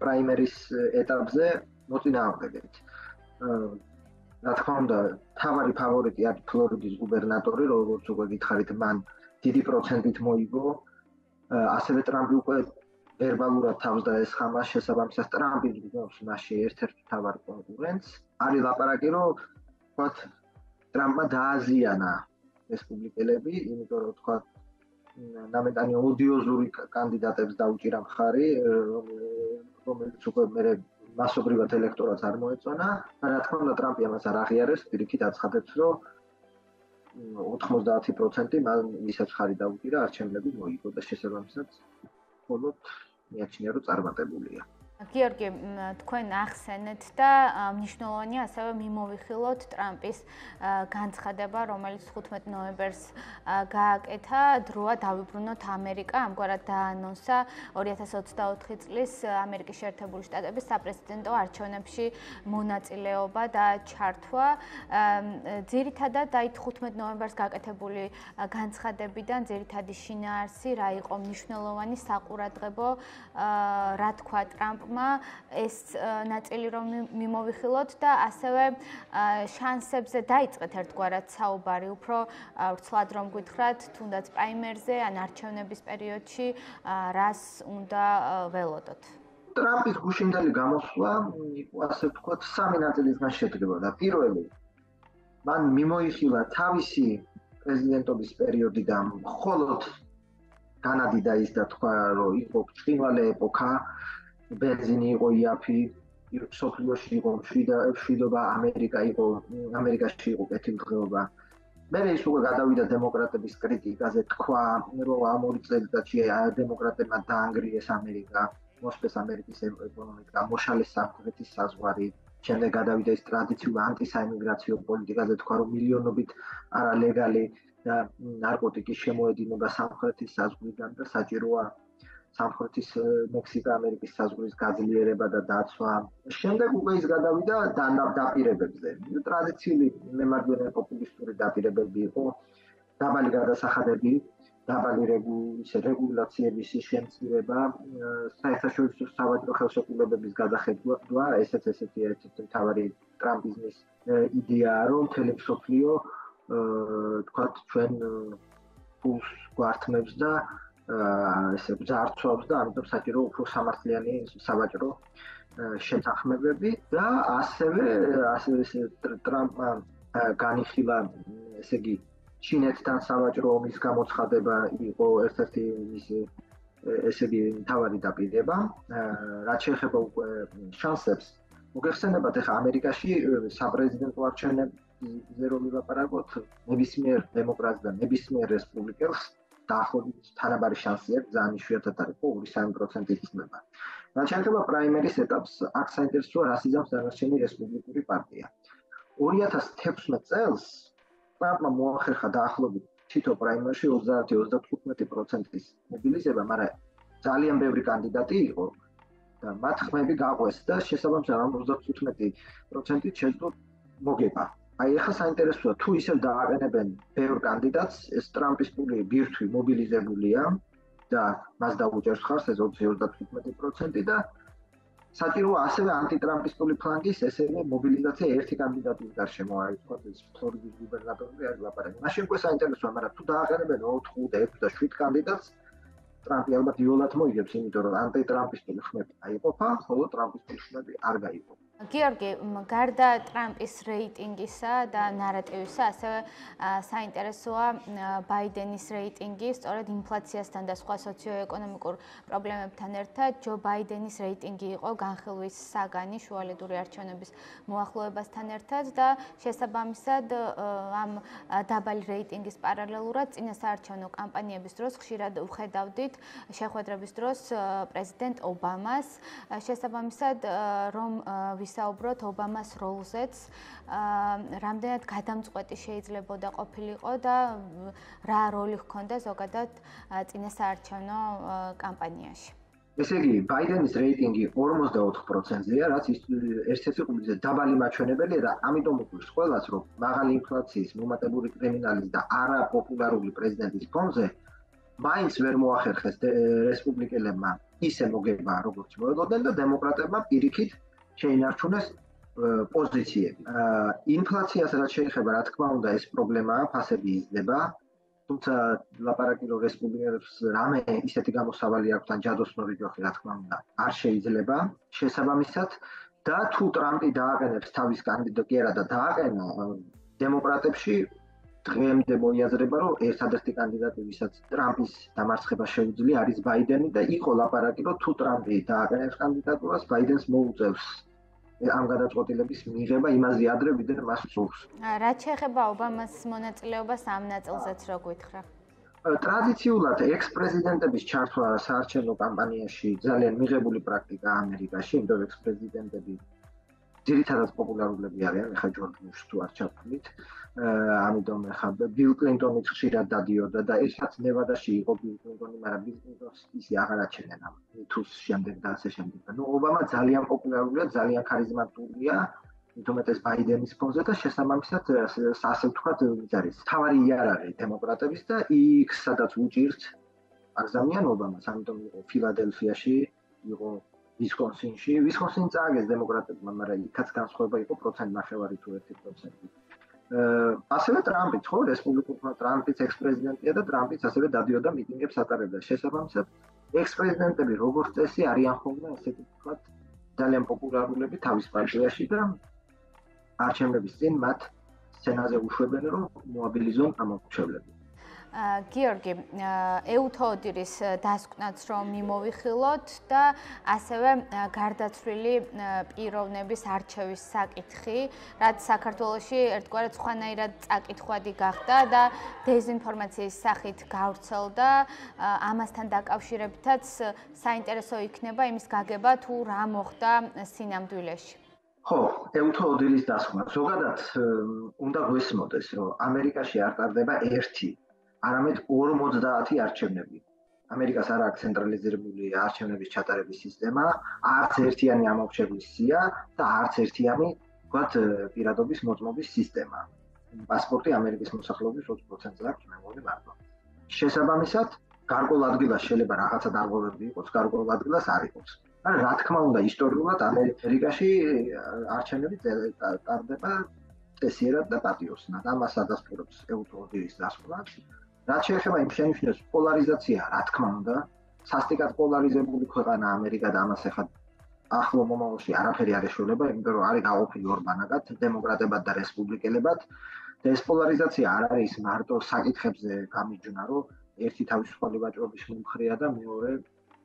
S3: პრაიმერის ეტაპზე მოწინააღმდეგეთ. რა თქმა უნდა, თავარი ფავორიტი არის ფლორიდის გუბერნატორი, როგორც უკვე გითხარით, მან დიდი პროცენტით მოიგო. ასევე ტრამპი უკვე ვერბალურად თავს დაესხამა, შესაბამისად ტრამპი გრძნობს მასში ერთ-ერთ მთავარ კონკურენტს. არის ლაპარაკი, რომ თქვათ ტრამპმა დააზიანა რესპუბლიკელები, იმიტომ რომ თქვათ ნამეტანი ოდიოზური კანდიდატებს დაუჭირა მხარი, რომელიც უკვე მერე მასობრივად ელექტორატს არ მოეწონა. რა თქმა უნდა, ტრამპი ამას არ აღიარებს, პირიქით აცხადებს, რომ 90% მან ისაც ხარი დაუჭირა, არჩევნები მოიგო და შესაბამისად მხოლოდ მიაჩნია, რომ წარმატებულია.
S1: გიორგი, თქვენ ახსენეთ და მნიშვნელოვანია ასევე მიმოვიხილოთ ტრამპის განცხადება, რომელიც 15 ნოემბერს გააკეთა, დროა დავიბრუნოთ ამერიკა, ამგვარად დაანონსა 2024 წლის ამერიკის შეერთებული შტატების საპრეზიდენტო არჩევნებში მონაწილეობა და ჩართვა. ძირითადად აი 15 ნოემბერს გაკეთებული განცხადებიდან ძირითადი შინაარსი რა იყო მნიშვნელოვანი საყურადღებო, რა თქვა ტრამპ ეს ნაწილი რომ მიმოვიხილოთ და ასევე შანსებზე დაიწყეთ ერთგვარად საუბარი, უფრო ვრცლად რომ გითხრათ, თუნდაც პრაიმერზე ან არჩევნების პერიოდში რას უნდა ველოდოთ.
S3: ტრამპის გუშინდელი გამოსვლა იყო, ასე ვთქვათ, სამი ნაწილისგან შედგებოდა. პირველი, მან მიმოიხილა თავისი პრეზიდენტობის პერიოდიდან მხოლოდ განადიდა ის და თქვა, რომ იყო ბრწყინვალე ეპოქა, ბენზინი იყო იაფი, სოფლიოში იყო მშვიდობა, ამერიკაში იყო კეთილდღეობა. მერე ის უკვე გადავიდა დემოკრატების კრიტიკაზე, თქვა, რომ ამ 2 წელიწადში დემოკრატებმა დაანგრიეს ამერიკა, მოსპეს ამერიკის ეკონომიკა, მოშალეს სამხრეთის საზღვარი. შემდეგ გადავიდა ის ტრადიციული ანტისაიმიგრაციო პოლიტიკაზე, თქვა, რომ მილიონობით არალეგალი და ნარკოტიკის შემოედინება სამხრეთის საზღვრიდან და საჭიროა სამხრეთის მექსიკა-ამერიკის საზღვრის გაძლიერება და დაცვა. შემდეგ უკვე ის გადავიდა დაპირებებზე. ტრადიციული მემარჯვენე პოპულისტური დაპირებები იყო, დაბალი გადასახადები, დაბალი რეგულაციების შემცირება, საერთაშორისო სავაჭრო ხელშეკრულებების გადახედვა, ესეც ესეთი ერთ-ერთი მთავარი ტრამპიზმის იდეაა, რომ მთელი მსოფლიო თქვათ ჩვენ ფულს გვართმევს და ესე ბრძარცობს და ამიტომ საჭირო უფრო სამართლიანი სავაჭრო შეთანხმებები და ასევე ტრამპმა განიხილა, ესე იგი, ჩინეთთან სავაჭრო ომის გამოცხადება იყო ერთ-ერთი მისი ესე იგი მთავარი დაპირება. რაც შეეხება უკვე შანსებს, მოგეხსენებათ, ახლა ამერიკაში საპრეზიდენტო არჩევნებზე რომ ვილაპარაკოთ, ნებისმიერ დემოკრატს და ნებისმიერ რესპუბლიკელს დაახლოებით თანაბარი შანსი აქვს, ძალიან იშვიათად არის 2-3% იხსნება. რაც შეეხება პრაიმერის ეტაპს, აქ საინტერესოა, რას იზამს დანარჩენი რესპუბლიკური პარტია. 2016 წელს ტრამპმა მოახერხა დაახლოებით თითო პრაიმერში 30-35%-ის მობილიზება, მაგრამ ძალიან ბევრი კანდიდატი იყო და მათ ხმები გაყვეს და შესაბამისად 35%-ით შეძლო მოგება. აი ახლა საინტერესოა, თუ ისევ დააყენებენ ბევრ კანდიდატს, ეს ტრამპის პული ბირთვი მობილიზებულია და მას დაუჭერს ხარს ეს 20-35% და საჭიროა ასევე ანტიტრამპისტული ფლანგის ესევე მობილიზაცია ერთი კანდიდატის გარშემო, აი თქვათ ეს ფლორიდის გუბერნატორი არის ლაპარაკი. მაშინ უკვე საინტერესოა, მაგრამ თუ დააყენებენ 4, 5 და 7 კანდიდატს, ტრამპი ალბათ იოლად მოიგებს, იმიტომ რომ ანტიტრამპისტული ხმები აიყოფა, ხოლო ტრამპისტული ხმები არ გაიყოფა.
S1: გიორგი, გარდა ტრამპის რეიტინგისა და ნარატივისა, ასევე საინტერესოა ბაიდენის რეიტინგი, სწორედ ინფლაციასთან და სხვა სოციოეკონომიკურ პრობლემებთან ერთად, ჯო ბაიდენის რეიტინგი იყო განხილვის საგანი შუალედური არჩევნების მოახლოებასთან ერთად და შესაბამისად ამ დაბალი რეიტინგის პარალელურად წინასაარჩევნო კამპანიების დროს ხშირად ვხედავდით შეხვედრების დროს პრეზიდენტ ობამას, შესაბამისად რომ ვისაუბროთ ობამას როლზეც. რამდენად გადამწყვეტი შეიძლებოდა ყოფილიყო და რა როლი ჰქონდა ზოგადად წინასაარჩევნო კამპანიაში.
S3: ესე იგი, ბაიდენის რეიტინგი 44%-ია, რაც ერთ-ერთი ყველაზე დაბალი მაჩვენებელია და ამიტომ უყვირს ყველას, რომ მაღალი ინფლაციის, მომატებული კრიმინალის და არაპოპულარული პრეზიდენტის ფონზე მაინც ვერ მოახერხეს რესპუბლიკელებმა ისე მოგება, როგორც მოელოდნენ და დემოკრატებმა პირიქით შეინარჩუნეს პოზიციები. ინფლაციას რაც შეეხება, რა თქმა უნდა, ეს პრობლემაა, ფასები იზრდება. თუმცა ლაპარაკი რომ რესპუბლიკელებს რამე ისეთი გამოსავალი აქვს ან ჯადოსნური ჯოხი, რა თქმა უნდა, არ შეიძლება შესაბამისად და თუ ტრამპი დააყენებს თავის კანდიდატურა და დააყენა დემოკრატებში დღემდე მოიაზრება, რომ ერთადერთი კანდიდატი, ვისაც ტრამპის დამარცხება შეუძლია, არის ბაიდენი და იყო ლაპარაკი, რომ თუ ტრამპი დააყენებს კანდიდატურას, ბაიდენს მოუწევს ამ გადაწყვეტილების მიღება იმაზე ადრე, ვიდრე მას სურს.
S1: რაც შეეხება ობამას მონაწილეობას ამ ნაწილზეც რო გითხრა.
S3: ტრადიციულად ექს-პრეზიდენტების ჩართვა საარჩევნო კამპანიაში ძალიან მიღებული პრაქტიკაა ამერიკაში, იმიტომ ექს-პრეზიდენტები ძირითადად პოპულარულები არიან, ეხლა ჯორჯ ბუშს თუ არ ჩავთვლით, ამიტომ ეხლა ბილ კლინტონიც ხშირად დადიოდა და ერთად ნევადაში იყო ბილ კლინტონი, მაგრამ ბილ კლინტონს ისე აღარ აჩენენ ამ თუს შემდეგ და ასე შემდეგ. ნუ ობამა ძალიან პოპულარულია, ძალიან ქარიზმატულია, თუმეტეს ბაიდენის ფონზე და შესაბამისად ასე ვთქვათ, ის არის თავარი იარაღი დემოკრატების და იქ სადაც უჭირთ აგზავნიან ობამას, ამიტომ იყო ფილადელფიაში, იყო ვისკონსინში, ვისკონსინი წააგეს დემოკრატებმა, მაგრამ იქაც განსხვავება იყო 1.5% თუ 1%. ასევე ტრამპიც, ხო, რესპუბლიკურმა ტრამპიც ექს-პრეზიდენტია და ტრამპიც ასევე დადიოდა მიტინგებს ატარებდა. შესაბამისად, ექს-პრეზიდენტები როგორც წესი არიან ხოლმე ესეთი ვთქვათ, ძალიან პოპულარულები თავის პარტიაში და არჩევნების წინ მათ სცენაზე უშვებენ, რომ მოაბილიზონ ამომრჩევლები.
S1: გიორგი, ეუთოოდირის დასკვნაც რომ მიმოვიხილოთ და ასევე გარდაცვლილი პიროვნების არჩევის საკითხი, რაც საქართველოში ერთგვარად სხვანაირად წაკითხვადი გახდა და დეзинფორმაციის სახით გავრცელდა. ამასთან დაკავშირებითაც საინტერესო იქნება იმის გაგება, თუ რა მოხდა სინამდვილეში.
S3: ხო, ეუთოოდირის დასკვნა. ზოგადად უნდა გვესმოდეს, რომ ამერიკაში არ ტარდება ერთი არამედ 50 არჩევნები. ამერიკას არ აქვს ცენტრალიზებული არჩევნების ჩატარების სისტემა, არც ერთიანი ამორჩევლის სია და არც ერთიანი, ვთქვათ, პირადობის მოწმობის სისტემა. პასპორტი ამერიკის მოსახლეობის 20%-ზე აქვს, მე მგონი მარტო. შესაბამისად, გარკვეულ ადგილას შეიძლება რაღაცა დარღვევები იყოს, გარკვეულ ადგილას არ იყოს. მაგრამ რა თქმა უნდა, ისტორიულად ამერიკაში არჩევნები ტარდება წესიერად და პატიოსნად. ამას ადასტურებს ეუთოოდირის დასკვნა. რაც შეეხება იმ შენიშვნებს, პოლარიზაცია, რა თქმა უნდა, სასტიკად პოლარიზებული ქვეყანა ამერიკა და ამას ახლა ახლო მომავალში არაფერი არ ეშველება, იმიტომ რომ არის გაყოფილი ორ ბანაკად, დემოკრატებად და რესპუბლიკელებად და ეს პოლარიზაცია არ არის მარტო საკითხებზე გამიჯვნა, რომ ერთი თავისუფალი ვაჭრობის მომხრეა და მეორე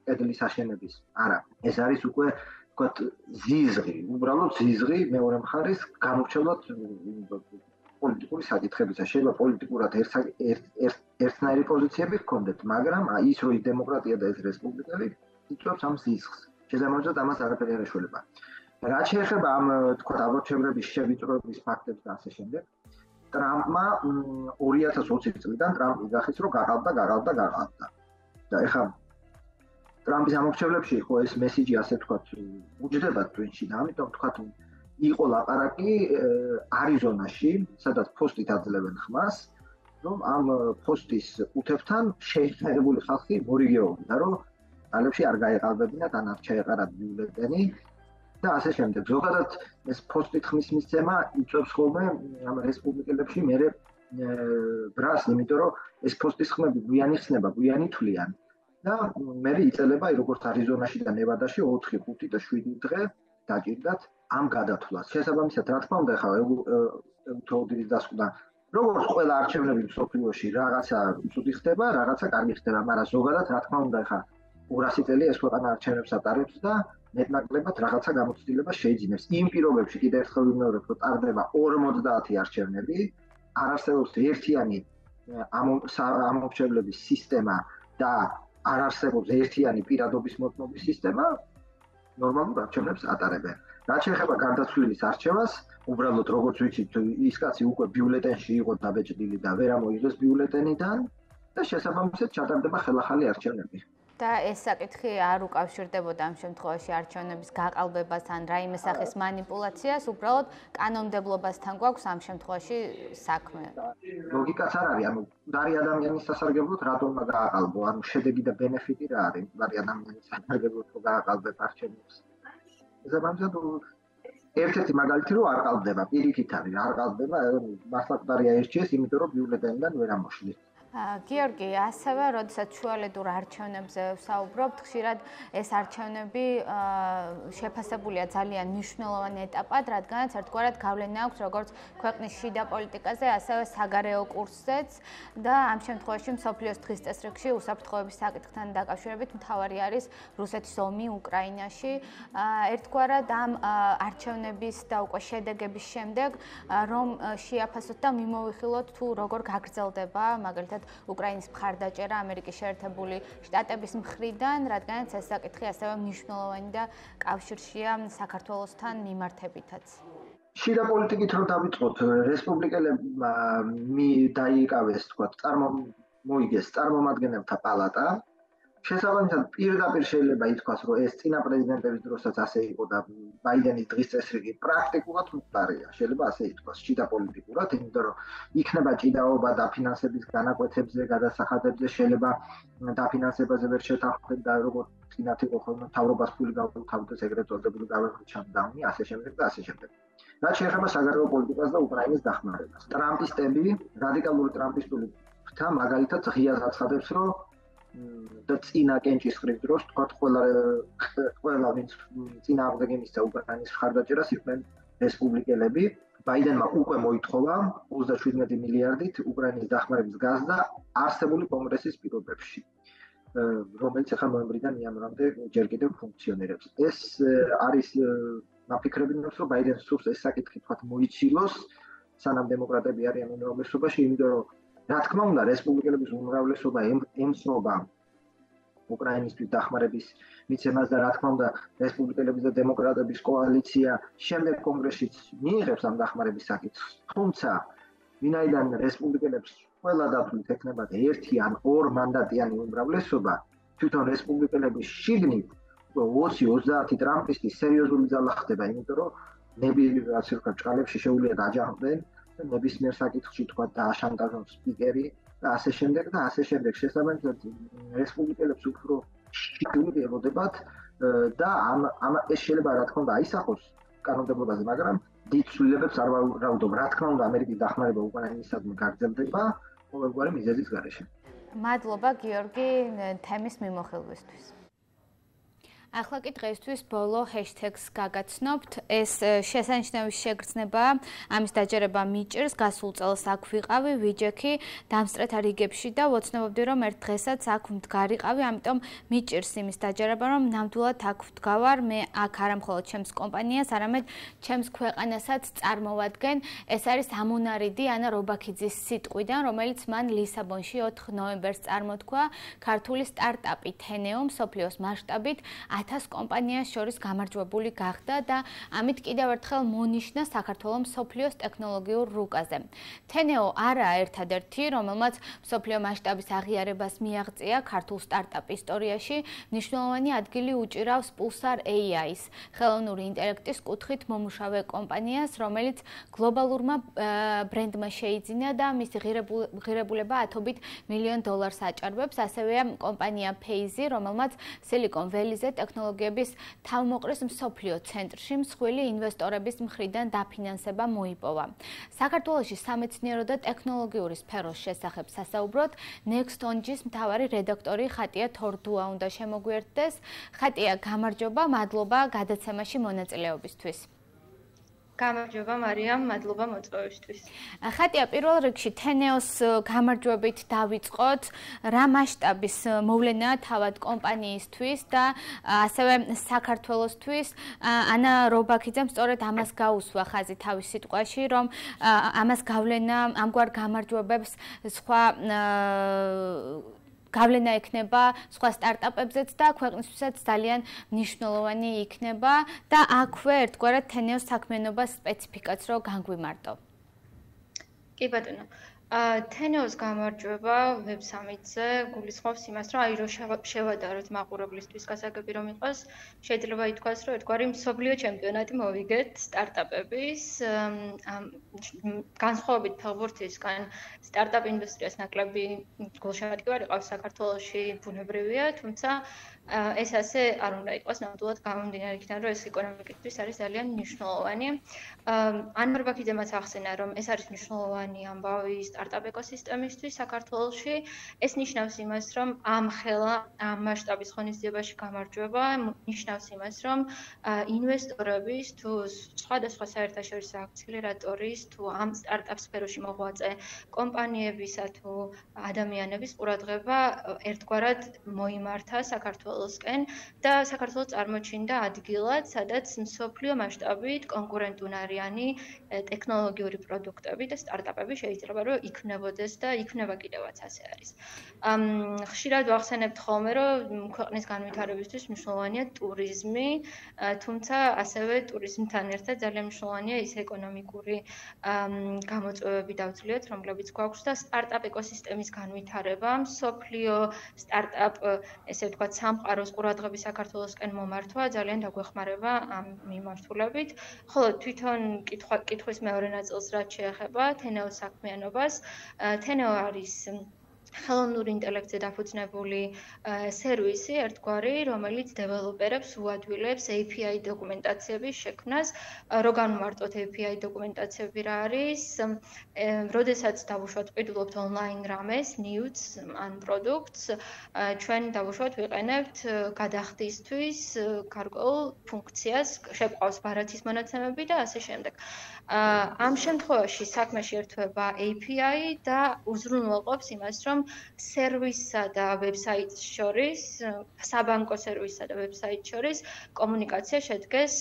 S3: კედლის აშენების. არა, ეს არის უკვე ვთქვათ ზიზღი, უბრალოდ ზიზღი მეორე მხარის გამორჩევლად პოლიტიკური საკითხებისა. შეიძლება პოლიტიკურად ერთნაირი პოზიციები ჰქონდეთ, მაგრამ ის რო ის დემოკრატია და ეს რესპუბლიკელი იწვევს ამ ზიზღს. შესაბამისად ამას არაფერი არ ეშველება. რაც შეეხება ამ ვთქვათ ამორჩევლების შევიწროების ფაქტებს და ასე შემდეგ, ტრამპმა 2020 წლიდან ტრამპი გახის რომ გაყავდა. და ეხლა ტრამპის ამორჩევლებში იყო ეს მესიჯი ასე ვთქვათ უჯდება ტვინში და ამიტომ ვთქვათ იყო ლაპარაკი არიზონაში, სადაც ფოსტით აძლევენ ხმას, რომ ამ ფოსტის უთებთან შეერთებული ხალხი მორიგეობდა, რომ ალებში არ გაეყალბებინათ, ან არ ჩაეყარათ ბიულეტენი და ასე შემდეგ. ზოგადად ეს ფოსტით ხმის მისცემა იწვევს ხოლმე ამ რესპუბლიკელებში მერე ბრას, იმიტომ რომ ეს ფოსტის ხმები გვიანი ხსნება, გვიანი თვლიან. და მე იწელება როგორც არიზონაში და ნევადაში 4, 5 და 7 დღე დაჭირდათ ამ გადათვლას. შესაბამისად, რა თქმა უნდა, ხა ეუთოოდირის დასკვნა, როგორც ყველა არჩევნები მსოფლიოში რაღაცა ცუდი ხდება, რაღაცა კარგი ხდება, მაგრამ ზოგადად რა თქმა უნდა, ხა 200 წელი ეს ქვეყანა არჩევნებს ატარებს და მეტნაკლებად რაღაცა გამოცდილება შეიძინებს. იმ პირობებში კიდევ ერთხელ ვიმეორებ, რომ ტარდება 50 არჩევნები, არ არსებობს ერთიანი ამორჩევლების სისტემა და არ არსებობს ერთიანი პირადობის მოწმობის სისტემა. ნორმალურ არჩევნებს ატარებენ. რაც შეეხება გარდაცვლილის არჩევას, უბრალოდ როგორც ვიცით, ის კაცი უკვე ბიულეტენში იყო დაბეჭდილი და ვერ ამოიღეს ბიულეტენიდან და შესაბამისად ჩატარდება ხელახალი არჩევნები.
S1: და ეს საკითხი არ უკავშირდებოდა ამ შემთხვევაში არჩევნების გაყალბებას ან რაიმე სახის манипуляციას, უბრალოდ კანონმდებლობასთან გვაქვს ამ შემთხვევაში საქმე.
S3: ლოგიკაც არ არის, ანუ დარი ადამიანის სასარგებლოდ რატომმა გააყალბო, ანუ შედეგი და ბენეფიტი რა არის, დარი ადამიანის სასარგებლოდ რო გააყალბებ არჩევნებს. ზოგადად ერთ-ერთი მაგალითი რომ არ ყალბდება, პირიქით არის, არ ყალბდება, მართლა დარი აირჩიეს, იმიტომ რომ ბიულეტენიდან ვერ ამოშლით.
S1: გიორგი, ასევე, როდესაც შუალედურ არჩევნებზე ვსაუბრობთ, ხშირად ეს არჩევნები შეფასებულია ძალიან მნიშვნელოვან ეტაპად, რადგანაც ერთგვარად გავლენა აქვს როგორც ქვეყნის შიდა პოლიტიკაზე, ასევე საგარეო კურსზეც და ამ შემთხვევაში მსოფლიოს დღის წესრიგში უსაფრთხოების საკითხთან დაკავშირებით მთავარი არის რუსეთის ომი უკრაინაში. ერთგვარად ამ არჩევნების და უკვე შედეგების შემდეგ რომ შეაფასოთ და მიმოვიხილოთ თუ როგორ გაგრძელდება მაგალითად უკრაინის მხარდაჭერა ამერიკის შეერთებული შტატების მხრიდან, რადგანაც ეს საკითხი ასევე მნიშვნელოვანი და კავშირშია საქართველოსთან მიმართებითაც.
S3: შიდა პოლიტიკით რო დავიწყოთ, რესპუბლიკელებმა დაიიკავეს, თქვა, მოიგეს წარმომადგენელთა პალატა. შესაბამისად, პირდაპირ შეიძლება ითქვას, რომ ეს წინა პრეზიდენტების დროსაც ასე იყო და ბაიდენის დღის წესრიგი პრაქტიკულად მყარია. შეიძლება ასე ითქვას, შიდა პოლიტიკურად, იმიტომ რომ იქნება ჭიდაობა დაფინანსების განაკვეთებზე, გადასახადებზე, შეიძლება დაფინანსებაზე ვერ შეთანხმდეთ და როგორც წინათ იყო ხოლმე მთავრობას ფული გაუთავდეს, ეგრეთ წოდებული გავეხმით შატდაუნი, ასე შემდეგ და ასე შემდეგ. რაც შეეხება საგარეო პოლიტიკას და უკრაინის დახმარებას. ტრამპისტები, რადიკალური ტრამპისტული ფრთა მაგალითად ღიად აცხადებს, რომ და წინა კენჭისყრის დროს თქვა ყველა ვინც წინა აღდგენ მისცა უკრაინის მხარდაჭერას იყვნენ რესპუბლიკელები. ბაიდენმა უკვე მოითხოვა 37 მილიარდით უკრაინის დახმარების გაზრდა არსებული კონგრესის პირობებში, რომელიც ახლა ნოემბრიდან იანვრამდე ჯერ კიდევ ფუნქციონირებს. ეს არის მაფიქრებინებს, რომ ბაიდენს სურს ეს საკითხი თქვა მოიცილოს, სანამ დემოკრატები არიან უმრავლესობაში, იმიტომ რომ რა თქმა უნდა, რესპუბლიკელების უმრავლესობა ემსრობა უკრაინისთვის დახმარების მიცემას და რა თქმა უნდა, რესპუბლიკელების და დემოკრატების კოალიცია შემდეგ კონგრესშიც მიიღებს ამ დახმარების საკითხს. თუმცა, ვინაიდან რესპუბლიკელებს ყველა დათვლით ექნებათ 1 ან 2 მანდატიანი უმრავლესობა, თვითონ რესპუბლიკელების შიგნით 20-30 ტრამპისტი სერიოზული ძალა ხდება, იმიტომ რომ ნებისმიერ ჭყალებში შეუძლია დაჯანმრდნენ ნებისმიერ საკითხში თქვა დააშანტაჟონ სპიკერი და ასე შემდეგ და ასე შემდეგ. შესაბამისად, რესპუბლიკელებს უფრო შიგნით ელოდებათ და ამ ეს შეიძლება რა თქმა უნდა აისახოს კანონმდებლობაზე, მაგრამ დიდ ცვლილებებს არ ვარაუდობ. რა თქმა უნდა, ამერიკის დახმარება უკრაინისადმი გაგრძელდება ყოველგვარი მიზეზის გარეშე.
S1: მადლობა გიორგი თემის მიმოხილვისთვის. ახლა კი დღეისთვის ბოლო ჰეშტეგს გაგაცნობთ. ეს შესანიშნავის შეგრძნება, ამის დაჯერება მიჭირს. გასულ წელს აქ ვიყავი, ვიჯექი დამსწრეთა რიგებში და ვოცნებობდი, რომ ერთ დღესაც აქ მდგარიყავი, ამიტომ მიჭირს იმის დაჯერება, რომ ნამდვილად აქ ვდგავარ. მე აქ არა მხოლოდ ჩემს კომპანიას, არამედ ჩემს ქვეყანასაც წარმოვადგენ. ეს არის ამონარიდი ანა რობაქიძის სიტყვიდან, რომელიც მან ლისაბონში 4 ნოემბერს წარმოთქვა. ქართული სტარტაპი თენეო მსოფლიოს მასშტაბით 1000 კომპანიას შორის გამარჯვებული გახდა და ამით კიდევ ერთხელ მონიშნა საქართველოს მსოფლიოს ტექნოლოგიურ რუკაზე. თენეო არაა ერთადერთი, რომელმაც მსოფლიო მასშტაბის აღიარებას მიაღწია ქართულ სტარტაპ ისტორიაში, მნიშვნელოვანი ადგილი უჭირავს Pulsar AI-ს, ხელოვნური ინტელექტის კუთხით მომუშავე კომპანიას, რომელიც გლობალურმა ბრენდმა შეიძინა და მისი ღირებულება $10 მილიონ აჭარბებს. ასევეა კომპანია Phase, რომელმაც Silicon Valley-ზე ტექნოლოგიების თავმოყრის მსოფლიო ცენტრში მსხვილი ინვესტორების მხრიდან დაფინანსება მოიპოვა. საქართველოში სამეცნიერო და ტექნოლოგიური სფეროს შესახებ სასაუბროთ Nextonjis მთავარი რედაქტორი ხატია თორდუა უნდა შემოგვიერთდეს. ხატია, გამარჯობა, მადლობა გადაცემაში მონაწილეობისთვის.
S4: გამარჯობა მარიამ, მადლობა მოწვევისთვის.
S1: ხატია, პირველ რიგში თენეოს გამარჯვებით დავიწყოთ. რა მასშტაბის მოვლენაა თავად კომპანიისთვის და ასევე საქართველოსთვის? ანა რობაქიძემ სწორედ ამას გაუსვა ხაზი თავის სიტყვაში, რომ ამას გავლენა ამგვარ გამარჯვებებს სხვა გავლენა ექნება სხვა სტარტაპებზეც და ქვეყნისთვისაც ძალიან მნიშვნელოვანი იქნება და აქვე ერთგვარად თენეოს საქმიანობას სპეციფიკაც რო განგვიმარტო.
S4: კი ბატონო. თენეოს გამარჯვება Web Summit-ზე გულისხმობს იმას, რომ აი რო შევადაროთ მაყურებლისთვის გასაგები რომ იყოს, შეიძლება ითქვას, რომ ერთგვარი მსოფლიო ჩემპიონატი მოვიგეთ სტარტაპების განსხვავებით ფეხბურთისგან სტარტაპ ინდუსტრიას ნაკლები გულშემატკივარი ყავს საქართველოში ბუნებრივია, თუმცა ეს ასე არ უნდა იყოს ნამდვილად გამომდინარე იქიდან, რომ ეს ეკონომიკისთვის არის ძალიან მნიშვნელოვანი. ანვარ ბაქიძემაც ახსენა, რომ ეს არის მნიშვნელოვანი ამბავი სტარტაპ ეკოსისტემისთვის საქართველოში. ეს ნიშნავს იმას, რომ ამ ხელა, ამ მასშტაბის ღონისძიებაში გამარჯვება ნიშნავს იმას, რომ ინვესტორების თუ სხვადასხვა საერთაშორისო აქცელერატორის თუ ამ სტარტაპ სფეროში მოღვაწე კომპანიებისა თუ ადამიანების ყურადღება ერთგვარად მოიმართა საქართველოსკენ და საქართველოს წარმოჩინდა ადგილად, სადაც მსოფლიო მასშტაბით კონკურენტუნარიანი ტექნოლოგიური პროდუქტები და სტარტაპები შეიძლება რომ იქნებოდეს და იქნება კიდევაც ასე არის. ხშირად ვახსენებთ ხოლმე, რომ ქვეყნის განვითარებისთვის მნიშვნელოვანია ტურიზმი, თუმცა ასევე ტურიზმთან ერთად ძალიან მნიშვნელოვანია ის ეკონომიკური გამოწვევები დავწლიოთ, რომლებიც გვაქვს და სტარტაპ ეკოსისტემის განვითარება, მსოფლიო სტარტაპ, ესე ვთქვათ, სამყაროს ყურადღების საქართველოსკენ მომართვა ძალიან დაგვეხმარება ამ მიმართულებით. ხოლო თვითონ კითხვის მეორე ნაწილს რაც შეეხება თენეოს საქმიანობას, თენეო არის ხელოვნურ ინტელექტზე დაფუძნებული სერვისი ერთგვარი, რომელიც დეველოპერებს უადვილებს API დოკუმენტაციების შექმნას. რო განვმარტოთ API დოკუმენტაციები რა არის, როდესაც დავუშვათ ყიდულობთ ონლაინ რამეს, news ან პროდუქტს, ჩვენ დავუშვათ ვიყენებთ გადახდისთვის გარკვეულ ფუნქციას, შეყავს ბარათის მონაცემები და ასე შემდეგ. ამ შემთხვევაში საქმეში ერთვება API და უზრუნველყოფს იმას, რომ სერვისსა და ვებსაიტს შორის, საბანკო სერვისსა და ვებსაიტს შორის კომუნიკაცია შედგეს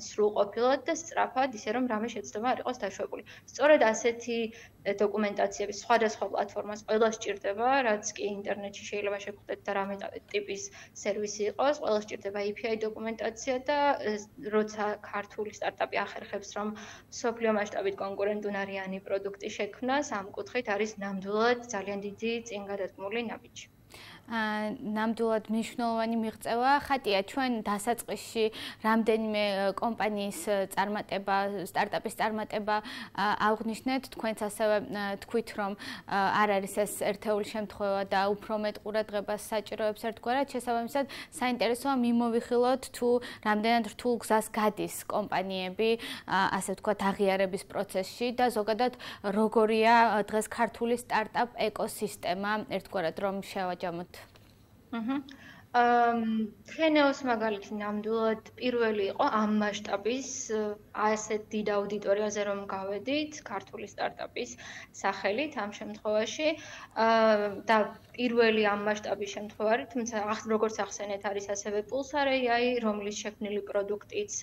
S4: სრულყოფილად და სწრაფად, ისე რომ რამე შეცდომა არ იყოს დაშვებული. სწორედ ასეთი დოკუმენტაციები სხვადასხვა პლატფორმას ყველა სჭირდება, რაც კი ინტერნეტში შეიძლება შეგხვდეთ და რამე ტიპის სერვისი იყოს, ყველა სჭირდება API დოკუმენტაცია და როცა ქართული სტარტაპი ახერხებს, რომ მსოფლიო მასშტაბით კონკურენტუნარიანი პროდუქტი შექმნას, ამ კუთხით არის ნამდვილად ძალიან დიდი წინ გადადგმული ნაბიჯი.
S1: ნამდვილად მნიშვნელოვანი მიღწევა. ხატია, ჩვენ დასაწყისში რამდენიმე კომპანიის წარმატება, სტარტაპის წარმატება აღვნიშნეთ, თქვენც ასევე თქვით, რომ არ არის ეს ერთეული შემთხვევა და უფრო მეტ ყურადღებას საჭიროებს ერთგვარად. შესაბამისად, საინტერესოა მიმოვიხილოთ, თუ რამდენად რთულ გზას გადის კომპანიები, ასე ვთქვათ, აღიარების პროცესში და ზოგადად როგორია დღეს ქართული სტარტაპ ეკოსისტემა ერთგვარად რომ შევაჯამოთ.
S4: თენეოს მაგალითი ნამდვილად პირველი იყო ამ მასშტაბის ასეთ დიდ აუდიტორიაზე რომ გავედით ქართული სტარტაპის სახელით ამ შემთხვევაში და პირველი ამ მასშტაბის შემთხვევაში, თუმცა როგორც ახსენეთ არის ასევე Pulsar AI, რომლის შექმნილი პროდუქტიც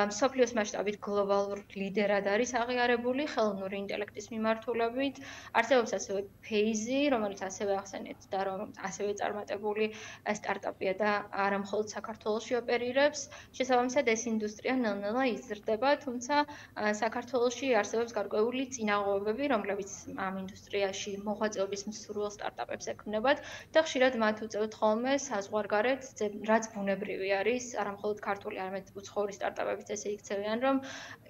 S4: მსოფლიოს მასშტაბით გლობალურ ლიდერად არის აღიარებული ხელოვნური ინტელექტის მიმართულებით. არსებობს ასევე Phase, რომელიც ასევე ახსენეთ და რომ ასევე წარმატებული სტარტაპია და არა მხოლოდ საქართველოში ოპერირებს. შესაბამისად ეს ინდუსტრია ნელ-ნელა იზრდება, თუმცა საქართველოში არსებობს გარკვეული წინაღობები, რომლებიც ამ ინდუსტრიაში მოღვაწეობის მსურველ სტარტაპებს ექმნებათ და ხშირად მათ უწევთ ხოლმე საზღვარგარეთ, რაც ბუნებრივი არის, არა მხოლოდ ქართული, არამედ უცხოური სტარტაპებიც ესე იქცევიან, რომ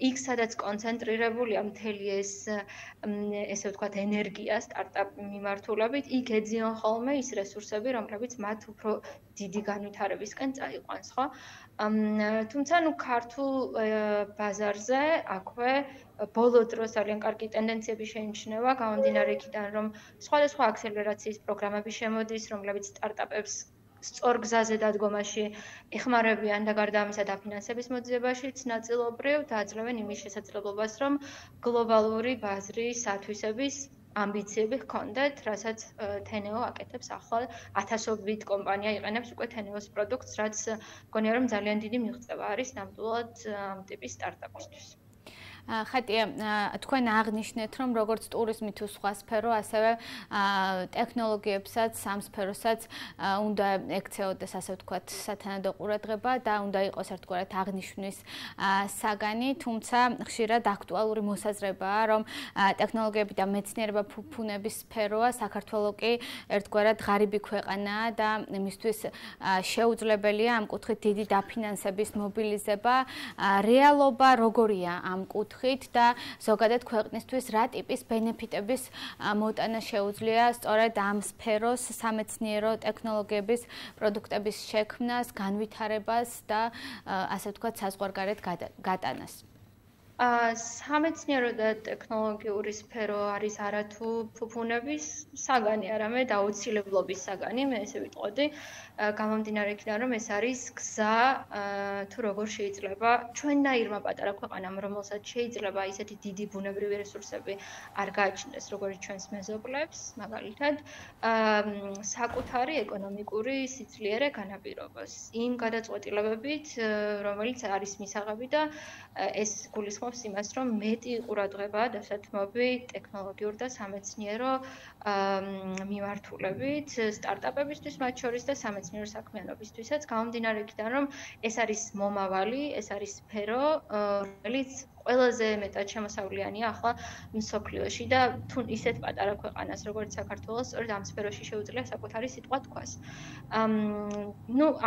S4: იქ სადაც კონცენტრირებულია მთელი ეს ესე ვთქვათ ენერგია სტარტაპ მიმართულებით, იქ ეძიონ ხოლმე ის რესურსები, რომლებიც მათ უფრო დიდი განვითარებისკენ წაიყვანს, ხო? თუმცა ნუ ქართულ ბაზარზე აქვე ბოლო დროს ძალიან კარგი ტენდენციები შეიმჩნევა, გამომდინარე იქიდან, რომ სხვადასხვა აქსელერაციის პროგრამები შემოდის, რომლებიც სტარტაპებს სწორ გზაზე დადგომაში ეხმარებიან და გარდა ამისა დაფინანსების მოძიებაშიც ნაწილობრივ დააძლევენ იმის შესაძლებლობას, რომ გლობალური ბაზრის ათვისების ამბიციები ჰქონდეთ, რასაც თენეო აკეთებს ახლა ათასობით კომპანია იყენებს უკვე თენეოს პროდუქტს, რაც მგონია რომ ძალიან დიდი მიღწევა არის ნამდვილად ამ ტიპის სტარტაპისთვის.
S1: ხატია, თქვენ აღნიშნეთ, რომ როგორც ტურიზმი თუ სხვა სფერო, ასევე ტექნოლოგიებსაც, ამ სფეროსაც უნდა ექცეოდეს, ასე ვთქვათ, სათანადო ყურადღება და უნდა იყოს ერთგვარად აღნიშვნის საგანი, თუმცა ხშირად აქტუალური მოსაზრებაა, რომ ტექნოლოგიები და მეცნიერება ფუფუნების სფეროა, საქართველო კი ერთგვარად ღარიბი ქვეყანაა და მისთვის შეუძლებელია ამ კუთხით დიდი დაფინანსების მობილიზება. რეალობა როგორია ამ კუთხით და ზოგადად ქვეყნისთვის რა ტიპის ბენეფიტების მოტანა შეუძლია სწორედ ამ სფეროს სამეცნიერო ტექნოლოგიების პროდუქტების შექმნას, განვითარებას და ასე ვთქვათ საზღვარგარეთ გატანას.
S4: სამეცნიერო და ტექნოლოგიური სფერო არის არათუ ფუფუნების საგანი, არამედ აუცილებლობის საგანი, მე ესე ვიტყოდი, გამომდინარე იქიდან, რომ ეს არის გზა თუ როგორ შეიძლება ჩვენნაირმა პატარა ქვეყანამ, რომელსაც შეიძლება ისეთი დიდი ბუნებრივი რესურსები არ გააჩნდეს, როგორც ჩვენს მეზობლებს, მაგალითად, საკუთარი ეკონომიკური სიძლიერე განაპირობოს იმ გადაწყვეტილებებით, რომელიც არის მისაღები და ეს გულისხმობს იმას, რომ მეტი ყურადღება დასათმობი ტექნოლოგიურ და სამეცნიერო მიმართულებით სტარტაპებისთვის, მათ შორის და სამეცნიერო საქმიანობისთვისაც, გამომდინარე იქიდან, რომ ეს არის მომავალი, ეს არის სფერო, რომელიც ყველაზე მეტად შემოსავლიანია ახლა მსოფლიოში და თუ ისეთ პატარა ქვეყანას, როგორც საქართველოს, სწორედ ამ სფეროში შეუძლია საკუთარი სიტყვა თქვას.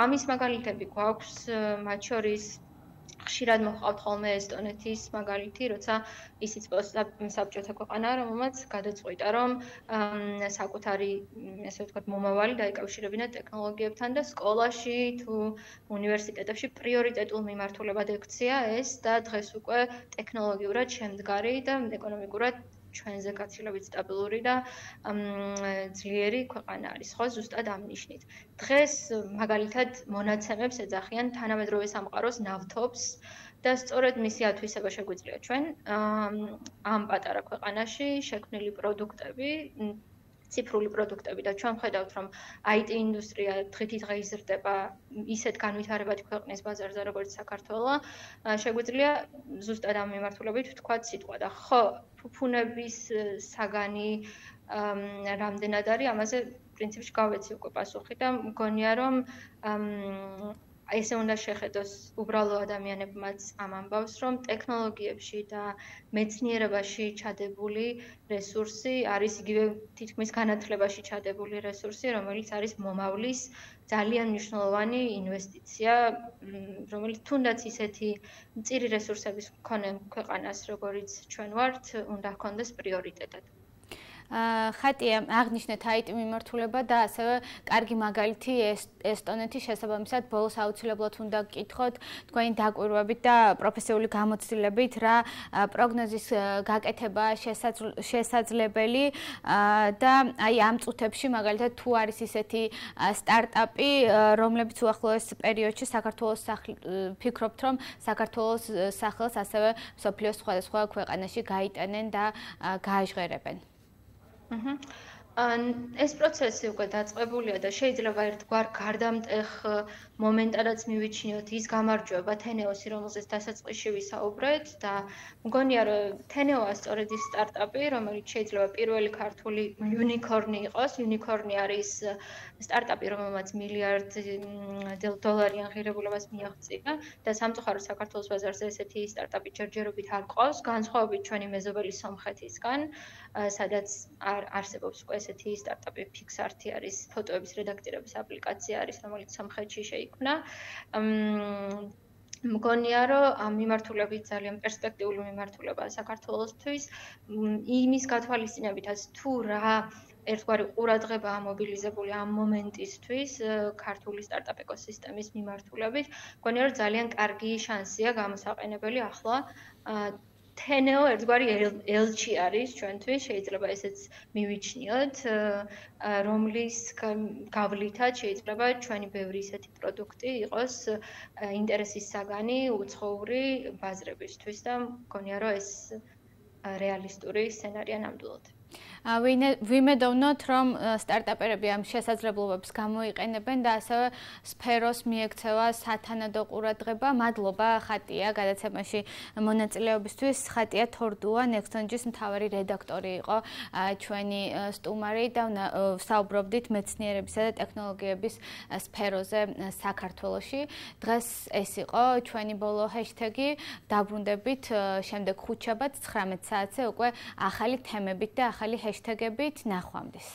S4: ამის მაგალითები გვაქვს, მათ შორის ხშირად მოჰყავთ ხოლმე ესტონეთის მაგალითი, როცა ისიც საბჭოთა ქვეყანაა, რომელმაც გადაწყვიტა, რომ საკუთარი, ასე ვთქვათ, მომავალი დაიკავშირებინა ტექნოლოგიებთან და სკოლაში თუ უნივერსიტეტებში პრიორიტეტულ მიმართულებად ექცია ეს და დღეს უკვე ტექნოლოგიურად შემდგარი და ეკონომიკურად ჩვენზე გაცილებით სტაბილური და ძლიერი ქვეყანა არის, ხო, ზუსტად ამ ნიშნით. დღეს მაგალითად მონაცემებს ეძახიან თანამედროვე სამყაროს ნავთობს და სწორედ მისი ათვისება შეგვიძლია ჩვენ ამ პატარა ქვეყანაში შექმნილი პროდუქტები, ციფრული პროდუქტები და ჩვენ ვხედავთ, რომ IT ინდუსტრია დღითიდღე იზრდება ისეთ განვითარებადი ქვეყნის ბაზარზე, როგორც საქართველო, შეგვიძლია ზუსტად ამ მიმართულებით ვთქვათ სიტყვა და ხო, ფუფუნების საგანი რამდენად არის, ამაზე პრინციპში გავეცი უკვე პასუხი და მგონია, რომ ესე უნდა შეხედოს უბრალო ადამიანებმაც ამ ამბავს, რომ ტექნოლოგიებში და მეცნიერებაში ჩადებული რესურსი არის იგივე თითქმის განათლებაში ჩადებული რესურსი, რომელიც არის მომავლის ძალიან მნიშვნელოვანი ინვესტიცია, რომელიც თუნდაც ისეთი მწირი რესურსების მქონე ქვეყანას, როგორც ჩვენ ვართ, უნდა ჰქონდეს პრიორიტეტად.
S1: ხატია, აღნიშნეთ IT მიმართულება და ასევე კარგი მაგალითი ესტონეთის შესაბამისად ბოლოს აუცილებლად უნდა გკითხოთ თქვენი დაკვირვებით და პროფესიული გამოცდილებით რა პროგნოზის გაკეთება შესაძლებელი და აი ამ წუთებში მაგალითად თუ არის ისეთი სტარტაპი, რომლებიც უახლოეს პერიოდში საქართველოს ფიქრობთ, რომ საქართველოს სახელს ასევე მსოფლიოს სხვადასხვა ქვეყანაში გაიტანენ და გააჟღერებენ.
S4: ეს პროცესი უკვე დაწყებულია და შეიძლება ერთგვარ გარდამტეხ მომენტადაც მივიჩნიოთ ის გამარჯვება თენეოსი, რომელზეც დასაწყისში ვისაუბრეთ და მგონია, რომ თენეოა სწორედ ის სტარტაპი, რომელიც შეიძლება პირველი ქართული იუნიკორნი იყოს. იუნიკორნი არის სტარტაპი, რომელმაც $1 მილიარდიან ღირებულებას მიაღწია და სამწუხაროდ საქართველოს ბაზარზე ესეთი სტარტაპი ჯერჯერობით არ ყავს, განსხვავებით ჩვენი მეზობელი სომხეთისგან, სადაც არსებობს უკვე ესეთი სტარტაპი Pixart-ი არის, ფოტოების რედაქტირების აპლიკაცია არის, რომელიც სომხეთში შეიქმნა. მგონია, რომ ამ მიმართულებით ძალიან პერსპექტიული მიმართულებაა საქართველოსთვის, იმის გათვალისწინებითაც თუ რა ერთგვარი ყურადღება მობილიზებული ამ მომენტისთვის ქართული სტარტაპ ეკოსისტემის მიმართულებით, მგონია, რომ ძალიან კარგი შანსია გამოსაყენებელი ახლა თენეო ერთგვარი ელჩი არის ჩვენთვის, შეიძლება ესეც მივიჩნიოთ, რომლის გავლითაც შეიძლება ჩვენი ბევრი ისეთი პროდუქტი იყოს ინტერესის საგანი უცხოური ბაზრებისთვის და მგონია, რომ ეს რეალისტური სცენარია ნამდვილად.
S1: ვიმედოვნოთ, რომ სტარტაპერები ამ შესაძლებლობებს გამოიყენებენ და ასევე სფეროს მიექცევა სათანადო ყურადღება. მადლობა ხატია გადაცემაში მონაწილეობისთვის. ხატია თორდუა, Nextonjis მთავარი რედაქტორი იყო ჩვენი სტუმარი და საუბრობდით მეცნიერებისა და ტექნოლოგიების სფეროზე საქართველოში. დღეს ეს იყო ჩვენი ბოლო ჰეშტეგი. დაბრუნდებით შემდეგ ხუთშაბათ 19 საათზე უკვე ახალი თემებით და ახალი ჰეშტეგებით. ნახვამდის.